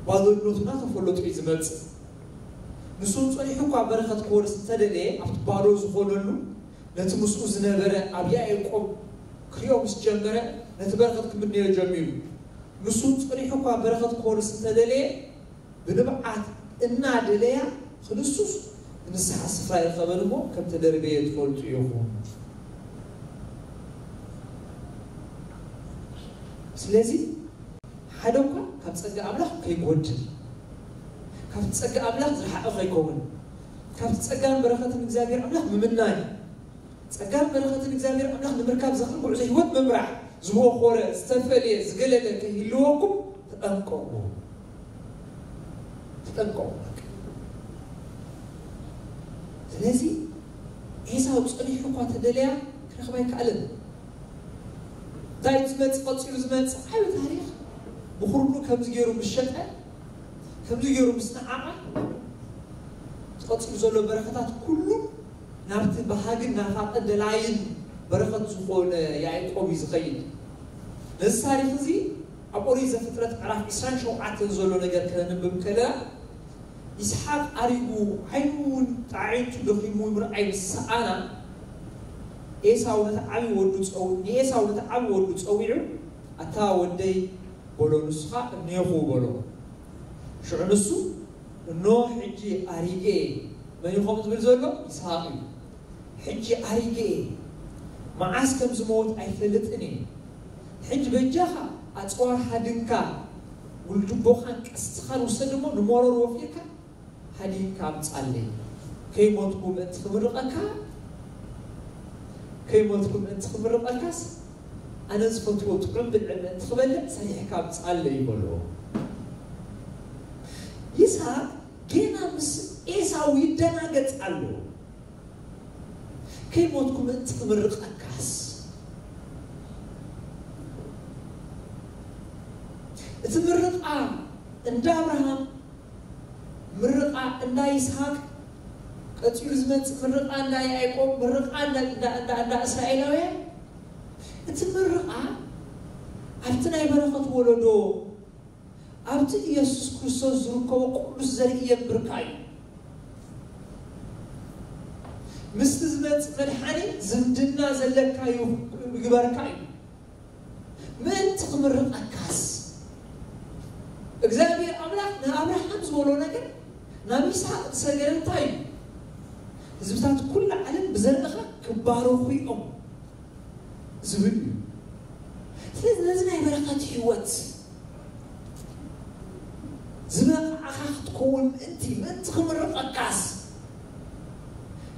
ባዶነቱ እናተፈለጡ እዩ ዝመጽእ። ንሱ እውን ጸኒሑ እኳ በረኸት ክወርስ እንተደለየ፣ ኣብቲ ባዶ ዝኾነሉ፣ ነቲ ምስኡ ዝነበረ ኣብ ያዕቆብ ክሪኦ ምስ ጀመረ፣ ነቲ በረኸት ክምነዮ ጀሚሩ። ንሱ ጸኒሑ እኳ በረኸት ክወርስ እንተደለየ፣ ብንብዓት እናደለያ ክንሱስ ንስሓ ስፍራ ይረኸበን እሞ ከም ተደርበየ ትፈልጡ ኢኹም። ስለዚ ሓደ እኳ ካብ ጸጋ ኣምላኽ ከይጎድል፣ ካብ ጸጋ ኣምላኽ ዝረሓቐ ከይከውን፣ ካብ ጸጋን በረኸትን እግዚኣብሔር ኣምላኽ ምምናይ፣ ጸጋን በረኸትን እግዚኣብሔር ኣምላኽ ንምርካብ ዘኽእል ጉዕዞ ህይወት ምምራሕ፣ ዝወኾረ፣ ዝተፈልየ፣ ዝገለለ ከይህልወኩም ተጠንቀቑ። ተጠንቀቑ። ስለዚ ኤሳው ጸኒሑ እኳ ተደለያ ክረኽባ ኣይከኣለን። እንታይ ዝመጽእ፣ ቀጺሉ ዝመጽእ ዓቢ ታሪኽ፣ ብኹርኑ ከምዚ ገይሩ ምስ ሸጠ፣ ከምዚ ገይሩ ምስ ነዓቐ፣ ቀጺሉ ዘሎ በረኸታት ኩሉ ናብቲ በሃግን ናፋቕን ደላይን በረኸት ዝኾነ ያዕቆብ እዩ ዝኸይድ። ነዚ ታሪኽ እዚ ኣብ ኦሪት ዘፍጥረት ምዕራፍ ዕስራን ሸውዓተን ዘሎ ነገር ከነንብብ ከለና፣ ይስሓቅ ኣሪጉ ዓይኑ እውን ጣዒንቱ ደኺሙ ምርኣይ ምስ ሰኣና፣ ኤሳው ነቲ ዓቢ ወዱ ጸው-፣ ንኤሳው ነቲ ዓቢ ወዱ ጸዊዑ፣ ኣታ ወደይ በሎ፣ ንሱ ኸኣ እኔኹ በሎ። ሽዑ ንሱ፣ እኖ ሕጂ ኣሪገ እየ። መን እዩ ከምኡ ዝብል ዘሎ? ይስሓቅ እዩ። ሕጂ ኣሪገ እየ፣ መዓስ ከም ዝመውት ኣይፈልጥን እየ። ሕጂ በጃኻ ኣጽዋር ሃድንካ፣ ውልድቦኻን ቀስትኻን ውሰድ እሞ ንመሮር ወፊርካ ሃዲንካ ኣምጻለይ። ከይሞትኩ ምእንቲ ክምርቐካ፣ ከይሞትኩ ምእንቲ ክምርቐካስ፣ ኣነ ዝፈትዎ ጥዑም ብልዒ ምእንቲ ክበልዕ ሰሪሕካ ኣምጻለይ በሎ። ይስሓቅ ጌና ምስ ኤሳው ይደናገጽ ኣሎ። ከይሞትኩ ምእንቲ ክምርቐካስ፣ እቲ ምርቓ እንዳ ኣብርሃም፣ ምርቓ እንዳ ይስሓቅ፣ ቀጺሉ ዝመጽእ ምርቓ እንዳ ያዕቆብ፣ ምርቓ እንዳ፣ እንዳ፣ እንዳ፣ እንዳ እስራኤላውያን፣ እቲ ምርቓ ኣብቲ ናይ በረኸት ወለዶ፣ ኣብቲ ኢየሱስ ክርስቶስ ዝርከቦ ቅዱስ ዘርኢ የንብርካ እዩ። ምስቲ ዝመጽእ መድሓኒ ዝምድና ዘለካ እዩ፣ ይግበርካ እዩ። ምእንቲ ክምርቐካስ፣ እግዚኣብሔር ኣምላኽ ንኣብርሃም ዝበሎ ነገር ናብ ይስሓቅ ዝሰገረ እንታይ እዩ? ህዝብታት ኩሉ ዓለም ብዘርእኻ ክባረኹ እዮም ዝብል እዩ። ስለዚ ነዚ ናይ በረኸት ህይወት ዝበቕዓኻ ክትከውን ምእንቲ፣ ምእንቲ ክምርቐካስ፣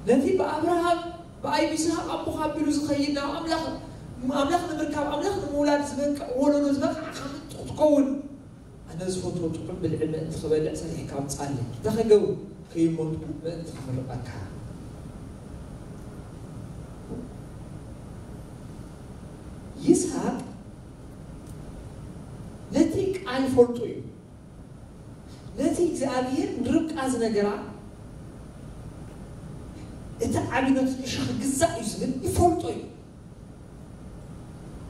ነቲ ብኣብርሃም ብኣይ ብይስሃቅ ኣቦኻ ኣቢሉ ዝኸይድ ናብ ኣምላኽ፣ ኣምላኽ ንምርካብ፣ ኣምላኽ ንምውላድ ዝበቅዕ ወለዶ ዝበቕዓኻ ምእንቲ ክትከውን፣ ኣነ ዝፈትዎ ጥዑም ብልዒ ምእንቲ ክበልዕ ሰሪሕካ ኣምጻለይ። እንታይ ክገብር? ከይሞትኩ ምእንቲ ክምርቐካ። ይስሃቅ ነቲ ቃል ይፈልጦ እዩ። ነቲ እግዚኣብሔር ንርብቃ ዝነገራ፣ እቲ ዓቢ ነቲ ንእሽቶ ክግዛእ እዩ ዝብል ይፈልጦ እዩ።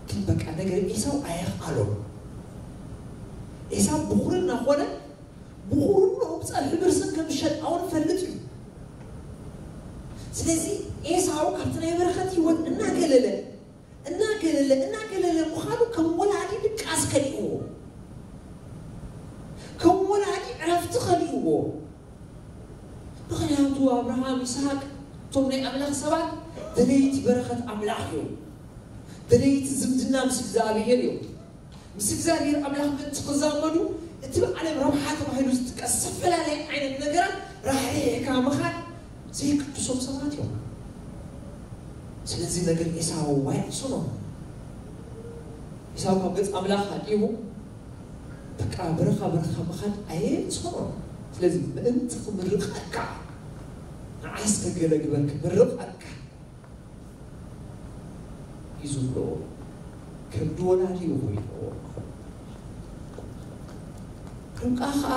ግን በቃ ነገር ኤሳው ኣየኽኣሎ። ኤሳው ብኹርና ኾነ፣ ብኹርንኡ ብጸብሒ ብርስን ከም ዝሸጣ እውን ይፈልጥ እዩ። ስለዚ ኤሳው ካብቲ ናይ በረኸት ህይወት እናገለለ፣ እናገለለ፣ እናገለለ ምዃኑ ከም ወላዲ ድቃስ ከሊእዎ፣ ከም ወላዲ ዕረፍቲ ከሊእዎ። ምኽንያቱ ኣብርሃም፣ ይስሃቅ፣ እቶም ናይ ኣምላኽ ሰባት ደለይቲ በረኸት ኣምላኽ እዮም። ደለይቲ ዝምድና ምስ እግዚኣብሔር እዮም። ምስ እግዚኣብሔር ኣምላኽ ምእንቲ ክዛመዱ፣ እቲ ብዓለም ረብሓ ተባሂሉ ዝጥቀስ ዝተፈላለየ ዓይነት ነገራት ራሕሪሕካ ምኻድ ዘይቅድሶም ሰባት እዮም። ስለዚ ነገር ኤሳው ኣይዕሶኖ። ኤሳው ካብ ገጽ ኣምላኽ ሃዲሙ፣ በቃ በረኻ በረኻ ምኻድ ኣየዕሶኖ። ስለዚ ምእንቲ ክምርቐካ፣ ንዓስ ከገለግበል ክምርቐካ እዩ ዝብሎ። ከብዲ ወላዲ እዩ ኮይንዎ። ርብቃ ኸኣ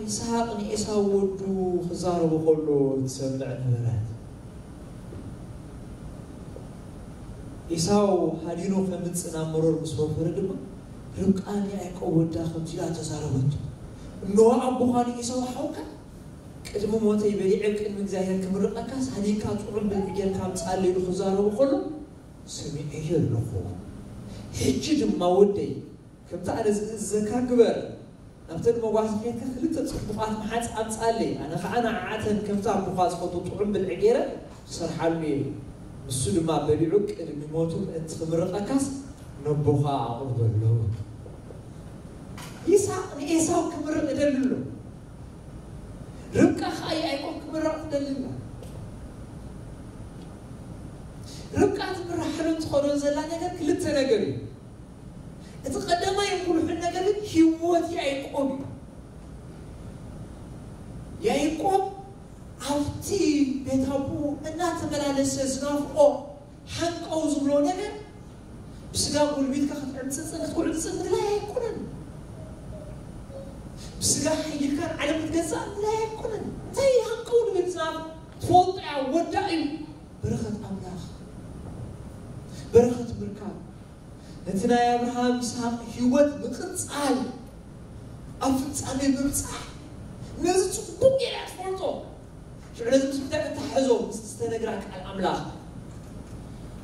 ይስሃቅ ንኤሳው ወዱ ክዛረቦ ከሎ ትሰምዕ ነበረት። ኤሳው ሃዲኑ ከምጽእ ናብ መሮር ምስ ወፈረ ድማ፣ ርብቃ ንያዕቆብ ወዳ ከምዚ ኢላ ተዛረበቶ፣ እንሆ ኣቦኻ ንኤሳው ሓውካ ቅድሚ ሞተይ በሊዐ ኣብ ቅድሚ እግዚኣብሔር ክምርቐካስ፣ ሃዲንካ ጥዑም ብልዒ ጌርካ ኣምጽኣለይ ኢሉ ክዛረቦ ከሎ ሰሚዐዮ ኣለኹ። ሕጂ ድማ ወደይ፣ ከምቲ ኣነ ዝእዘካ ግበር። ናብተን መጓሰ ኬድካ ክልተ ጽቡቓት መሓዝ ኣምጻለይ። ኣነ ኸዓ ንዓዓተን ከምቲ ኣቦኻ ዝፈትዎ ጥዑም ብልዒ ገይረ ክሰርሓሉ እየ። ንሱ ድማ በሊዑ ቅድሚ ሞቱ ምእንቲ ክምርቐካስ ነቦኻ ኣቕርበሉ። ይስሓቅ ንኤሳው ክምርቕ ይደሊ ኣሎ። ርብቃ ኸዓ ያዕቆብ ክምርቕ ትደሊ ኣላ። ርብቃ ትምርሓሉ ትኸዶ ዘላ ነገር ክልተ ነገር እዩ። እቲ ቀዳማይ ብሉሕን ነገር ግን ህይወት ያዕቆብ እዩ። ያዕቆብ ኣብቲ ቤት ኣቦኡ እናተመላለሰ ዝናፍቆ ሓንቀው ዝብሎ ነገር ብስጋ ጉልቢትካ ክትዕምፅፅን ክትጉዕፅፅን ምድላይ ኣይኮነን። ብስጋ ሓይልካ ንዓለም ክትገዛእ ምድላይ ኣይኮነን። እንታይ ሓንቀው ንብል ዝናፍቆ ትፈልጦ እያ ወዳ እዩ። በረኸት ኣምላኽ በረኸት ምርካብ ነቲ ናይ ኣብርሃም ይስሓቅ ህይወት ምቕጻል ኣብ ፍጻሜ ምብጻሕ ነዚ ጽቡቕ ጌራ ትፈልጦ። ሽዑ ነዚ ምስ ምንታይ ክተሓሕዞ ምስ ዝተነግራ ቃል ኣምላኽ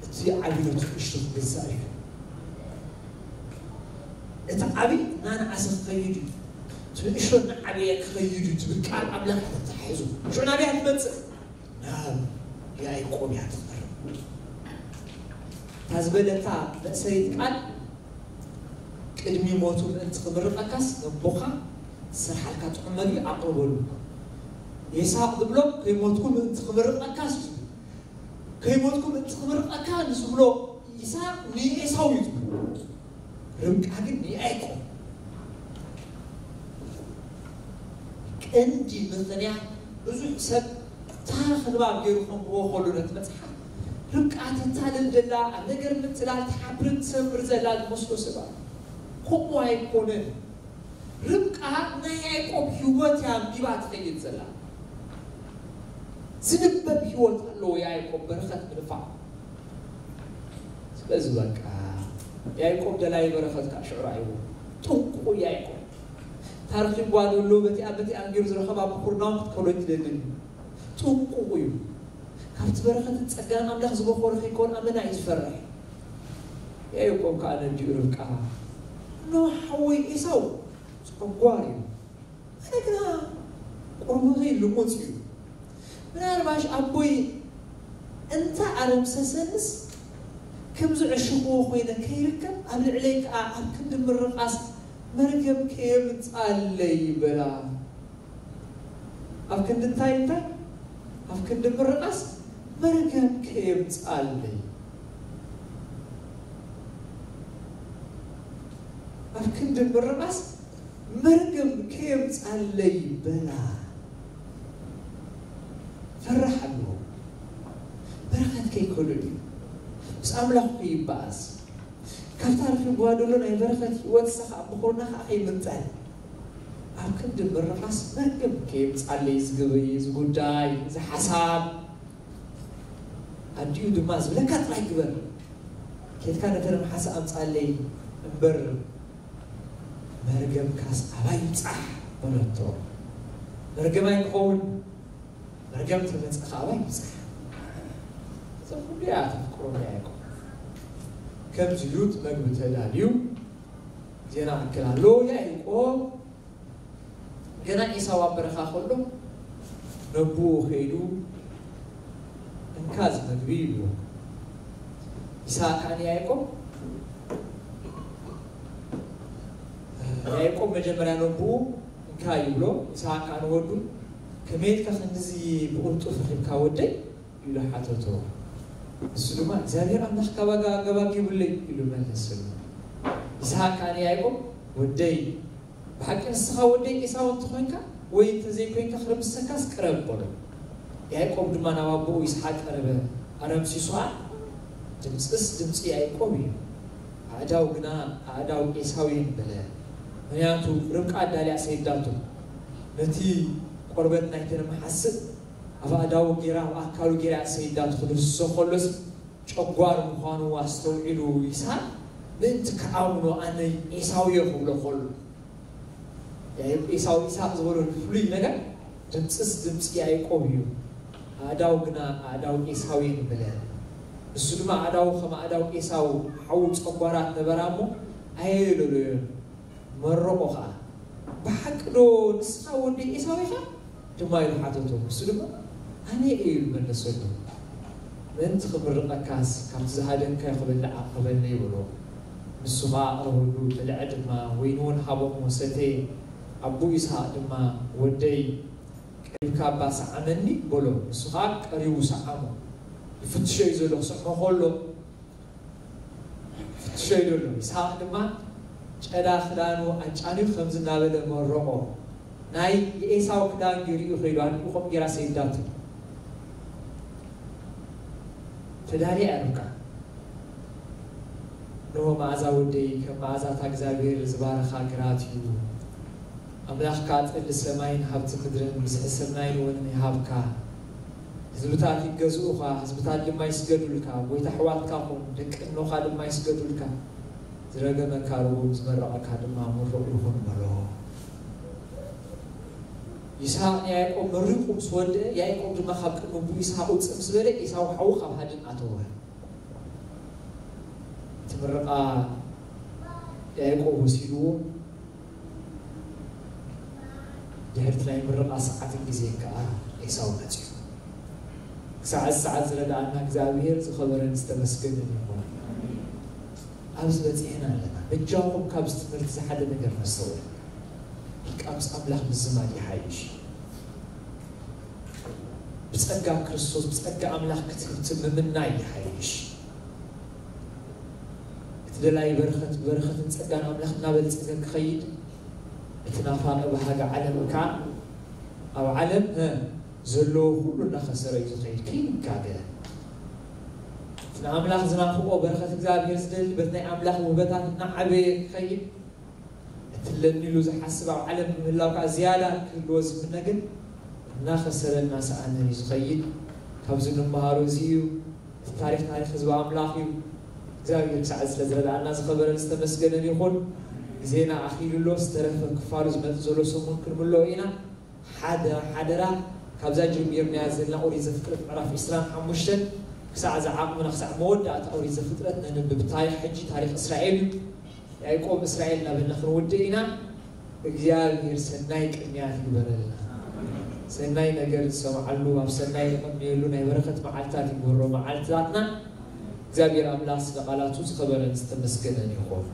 እቲ ዓብዪ ነቲ ንእሽቶ ክገዛእ እዩ። እቲ ዓብዪ እናነኣሰ ክኸይድ እዩ። እቲ ንእሽቶ እናዓበየ ክኸይድ እዩ ትብል ቃል ኣምላኽ ተተሓሕዞ ሽዑ ናበይ ትመጽእ ናብ ያዕቆብ እያ ትቐርብ። እታ ዝበለታ መእሰሪት ቃል ቅድሚ ሞቱ ምእንቲ ክምርቐካስ ነቦኻ ዝሰርሓልካ ጥዑም መግቢ ኣቕርበሉ። ይስሓቅ ዝብሎ ከይሞትኩ ምእንቲ ክምርቐካስ እዩ። ከይሞትኩ ምእንቲ ክምርቐካ ንዝብሎ ይስሓቅ ንኤሳው እዩ ዝብሎ። ርብቃ ግን ንያዕቆብ። ቀንዲ ምኽንያት ብዙሕ ሰብ ታሪኽ ንባብ ገይሩ ከንብቦ ከሎ ነቲ መጽሓፍ ርብቃ ተታልል ዘላ ኣብ ነገር ምትላል ትሓብርን ትሰምር ዘላ ዝመስሎ ሰባት ከምኡ ኣይኮነን። ርብቃ ናይ ያዕቆብ ህይወት እያ ኣንቢባ ትኸይድ ዘላ። ዝንበብ ህይወት ኣለዎ ያዕቆብ በረኸት ምድፋዕ። ስለዚ በቃ ያዕቆብ ደላይ በረኸት ከዓ ሽዑ ራእይዎ ጥንቁ ያዕቆብ ታሪኽ ይጓደሎ በቲኣ በቲኣ ገይሩ ዝረኸባ ብኩርናው ክትከሎ ይትደልን እዩ። ጥንቁቑ እዩ። ካብቲ በረኸትን ጸጋን ኣምላኽ ዝበኾረ ከይኮን ኣመና እዩ ዝፈርሕ። ያዕቆብ ከዓ ነዲኡ ርብቃ ኖ ሓወይ ኤሳው ጸጓር እዩ። ኣነ ግና ቆርበተይ ልሙጽ እዩ። ምናልባሽ ኣቦይ እንተ ኣረምሰሰንስ ከም ዝዕሽኽዎ ኮይነ ከይርከብ ኣብ ልዕለይ ከኣ ኣብ ክንዲ ምርቓስ መርገም ከየምጽኣለይ በላ። ኣብ ክንዲ እንታይ እንታይ ኣብ ክንዲ ምርቓስ መርገም ከየምጽኣለይ ኣብ ክንዲ ምርቓስ መርገም ከየምጻለይ በላ። ፈራሕ ኣለዎ። በረኸት ከይከሉ ድዩ ምስ ኣምላኽ ከይበኣስ ካብታ ርኺብዋ ዘሎ ናይ በረኸት ህይወት ሳኻ ኣብ ምኾና ከዓ ከይምንጠል ኣብ ክንዲ ምርቓስ መርገም ከየምጻለይ ዝግበይ ዝጉዳይ ዝሓሳብ ኣዲኡ ድማ ዝብለካ ጥራይ ግበር። ኬድካ ነተን መሓሳ ኣምጻለይ እምበር መርገምካስ ኣባይ ይብጻሕ በለቶ። መርገም ኣይክኸውን መርገም ተመጸ ከኣ ኣባይ ይብጻሕ። እዚ ኩሉ እያ ተፍቅሮ ያዕቆብ። ከምዚ እዩ እቲ መግቢ ተዳልዩ ዜና ኣክል ኣሎ ያዕቆብ ገና ኤሳው ኣብ በረኻ ከሎ ነቦኡ ከይዱ እንካ እዚ መግቢ ይብሎ። ይስሓቅ ከኣ ንያዕቆብ ያዕቆብ መጀመርያ ነቦኡ እንካ ይብሎ። ይስሓቅ ከኣ ንወዱ ከመይ ኢልካ ክንድዚ ብቕልጡፍ ረኺብካ ወደይ ኢሉ ሓተቶ። ንሱ ድማ እግዚኣብሔር ኣምላኽ ካባጋ ገባጊቡለይ ኢሉ መለሰሉ። ይስሓቅ ከኣ ንያዕቆብ ወደይ ብሓቂ ንስኻ ወደይ ኤሳው እንተኾይንካ ወይ እንተዘይኮይንካ ክርምሰካስ ቅረብ በሎ። ያዕቆብ ድማ ናብ ኣቦኡ ይስሓቅ ቀረበ፣ ኣረምሲሱ ኸኣ ድምፅስ ድምፂ ያዕቆብ እዩ፣ ኣእዳው ግና ኣእዳው ኤሳው እየን በለ። ምኽንያቱ ርብቃ ኣዳልያ ሰይዳቶ ነቲ ቆርበት ናይተን መሓስእ ኣብ ኣእዳው ገይራ ኣብ ኣካሉ ገይራ ሰይዳቶ ክድህስሶ ከሎስ ጨጓር ምዃኑ ኣስተውዒሉ ይስሓቅ ምእንቲ ክኣምኖ ኣነ ኤሳው እየ ክብሎ ከሎ ኤሳው ይስሓቅ ዝበሎ ፍሉይ ነገር ድምፅስ ድምፂ ያዕቆብ እዩ ኣእዳው ግና ኣእዳው ኤሳው እየን በለ። ንሱ ድማ ኣእዳው ከም ኣእዳው ኤሳው ሓው ጨጓራት ነበራ እሞ ኣየለሎዮን። መረቖ ኸዓ፣ "ብሓቂ ዶ ንስኻ ወዲ ኤሳው ኢኻ?" ድማ ኢሉ ሓተቶ። ንሱ ድማ፣ "ኣነ እየ" ኢሉ መለሰሉ። "ምእንቲ ክምርቐካስ ካብቲ ዝሃደንካዮ ክበልዕ ኣቕርበለይ" በሎ። ንሱ ኸዓ ኣቕረበሉ፣ በልዐ ድማ፣ ወይኒ እውን ሃቦ እሞ ሰተየ። ኣቦ ይስሃቅ ድማ፣ "ወደይ፣ ቀሪብካ እባ ሰዓመኒ" በሎ። ንሱ ኸዓ ቀሪቡ ሰዓሞ። ይፍትሾ እዩ ዘሎ፣ ክስዕሞ ከሎ ይፍትሾ እዩ ዘሎ። ይስሃቅ ድማ ጨዳ ክዳኑ ኣጫንዩ ከምዚ እናበለ መረቖ። ናይ የኤሳው ክዳን ገይሩ እዩ ከይዱ፣ ኣዲኡ ከምኡ ገይራ ሰይዳቶ። ተዳልያ እያ ርብቃ። "እንሆ መኣዛ ወደይ ከም መኣዛታ እግዚኣብሔር ዝባረኻ ግራት እዩ። ኣምላኽካ ጠሊ ሰማይን ሃብቲ ምድርን ብዝሒ ስርናይን ወይንን ይሃብካ። ህዝብታት ይገዝኡኻ፣ ህዝብታት ድማ ይስገዱልካ። ጎይታ ኣሕዋትካ ኹን፣ ደቂ እኖኻ ድማ ይስገዱልካ። ዝረገመካ ርጉም፣ ዝመረቐካ ድማ ምሩቕ ይኹን" በሎ። ይስሃቅ ንያዕቆብ መሪቑ ምስ ወደአ፣ ያዕቆብ ድማ ካብ ቅድሚ ኣቦኡ ይስሃቅ ውፅእ ምስ በለ፣ ኤሳው ሓዉ ካብ ሃድን ኣተወ። እቲ ምርቓ ያዕቆብ ወሲድዎ፣ ድሕሪ እቲ ናይ ምርቓ ሰዓትን ግዜን ከኣ ኤሳው መጺኡ። ክሳዕ እዚ ሰዓት ዝረድኣና እግዚኣብሔር ዝኸበረን ዝተመስገነን ይኹን። ኣብዚ በጺሕና ኣለና። በጃኹም ካብዚ ትምህርቲ እዚ ሓደ ነገር ነስተውዕል። ኢልካ ምስ ኣምላኽ ምዝማድ ይሓይሽ። ብጸጋ ክርስቶስ፣ ብጸጋ ኣምላኽ ክትህብቲ ምምናይ ይሓይሽ። እቲ ደላይ በረኸት፣ በረኸትን ጸጋን ኣምላኽ እናበልጸገ ክኸይድ፣ እቲ ናፋቂ ባህጊ ዓለም ከኣ ኣብ ዓለም፣ እ፣ ዘለዎ ኩሉ እናኸሰረ እዩ ዝኸይድ። ከይንጋገ። እቲ ንኣምላኽ ዝናፍቆ በረኸት እግዚኣብሔር ዝደሊ፣ በቲ ናይ ኣምላኽ ውህበታት እናዓበየ ክኸይድ፣ እትለኒ ኢሉ ዝሓስብ ኣብ ዓለም ምህላው ከኣ ዝያዳ ክህልዎ ዝምነ ግን እናኸሰረ እናሰኣነ እዩ ዝኸይድ። ካብዚ እንመሃሮ እዚ እዩ። እቲ ታሪኽ ታሪኽ ህዝቢ ኣምላኽ እዩ። እግዚኣብሔር ክሳዕ ስለ ዝረድኣና ዝኸበረን ዝተመስገነን ይኹን። ግዜና ኣኺሉ ኣሎ። ዝተረፈ ክፋሉ ዝመጽእ ዘሎ ሰሙን ክንምልኦ ኢና። ሓደ ሓደራ፣ ካብዛ ጀሚርናያ ዘለና ኦሪት ዘፍጥረት ምዕራፍ ዕስራን ሓሙሽተን ክሳዕ ዝዓቕምና፣ ክሳዕ መወዳእታ ኦሪት ዘፍጥረት ነንብብ። ታሪኽ ሕጂ ታሪኽ እስራኤል እዩ። ያዕቆብ እስራኤል እናበልና ክንውድእ ኢና። እግዚኣብሔር ሰናይ ቅንያት ይግበረልና። ሰናይ ነገር ዝሰምዓሉ፣ ኣብ ሰናይ ንቕንየሉ ናይ በረኸት መዓልትታት ይግበሮ መዓልትታትና። እግዚኣብሔር ኣምላኽ ስለ ቃላቱ ዝኸበረን ዝተመስገነን ይኹን።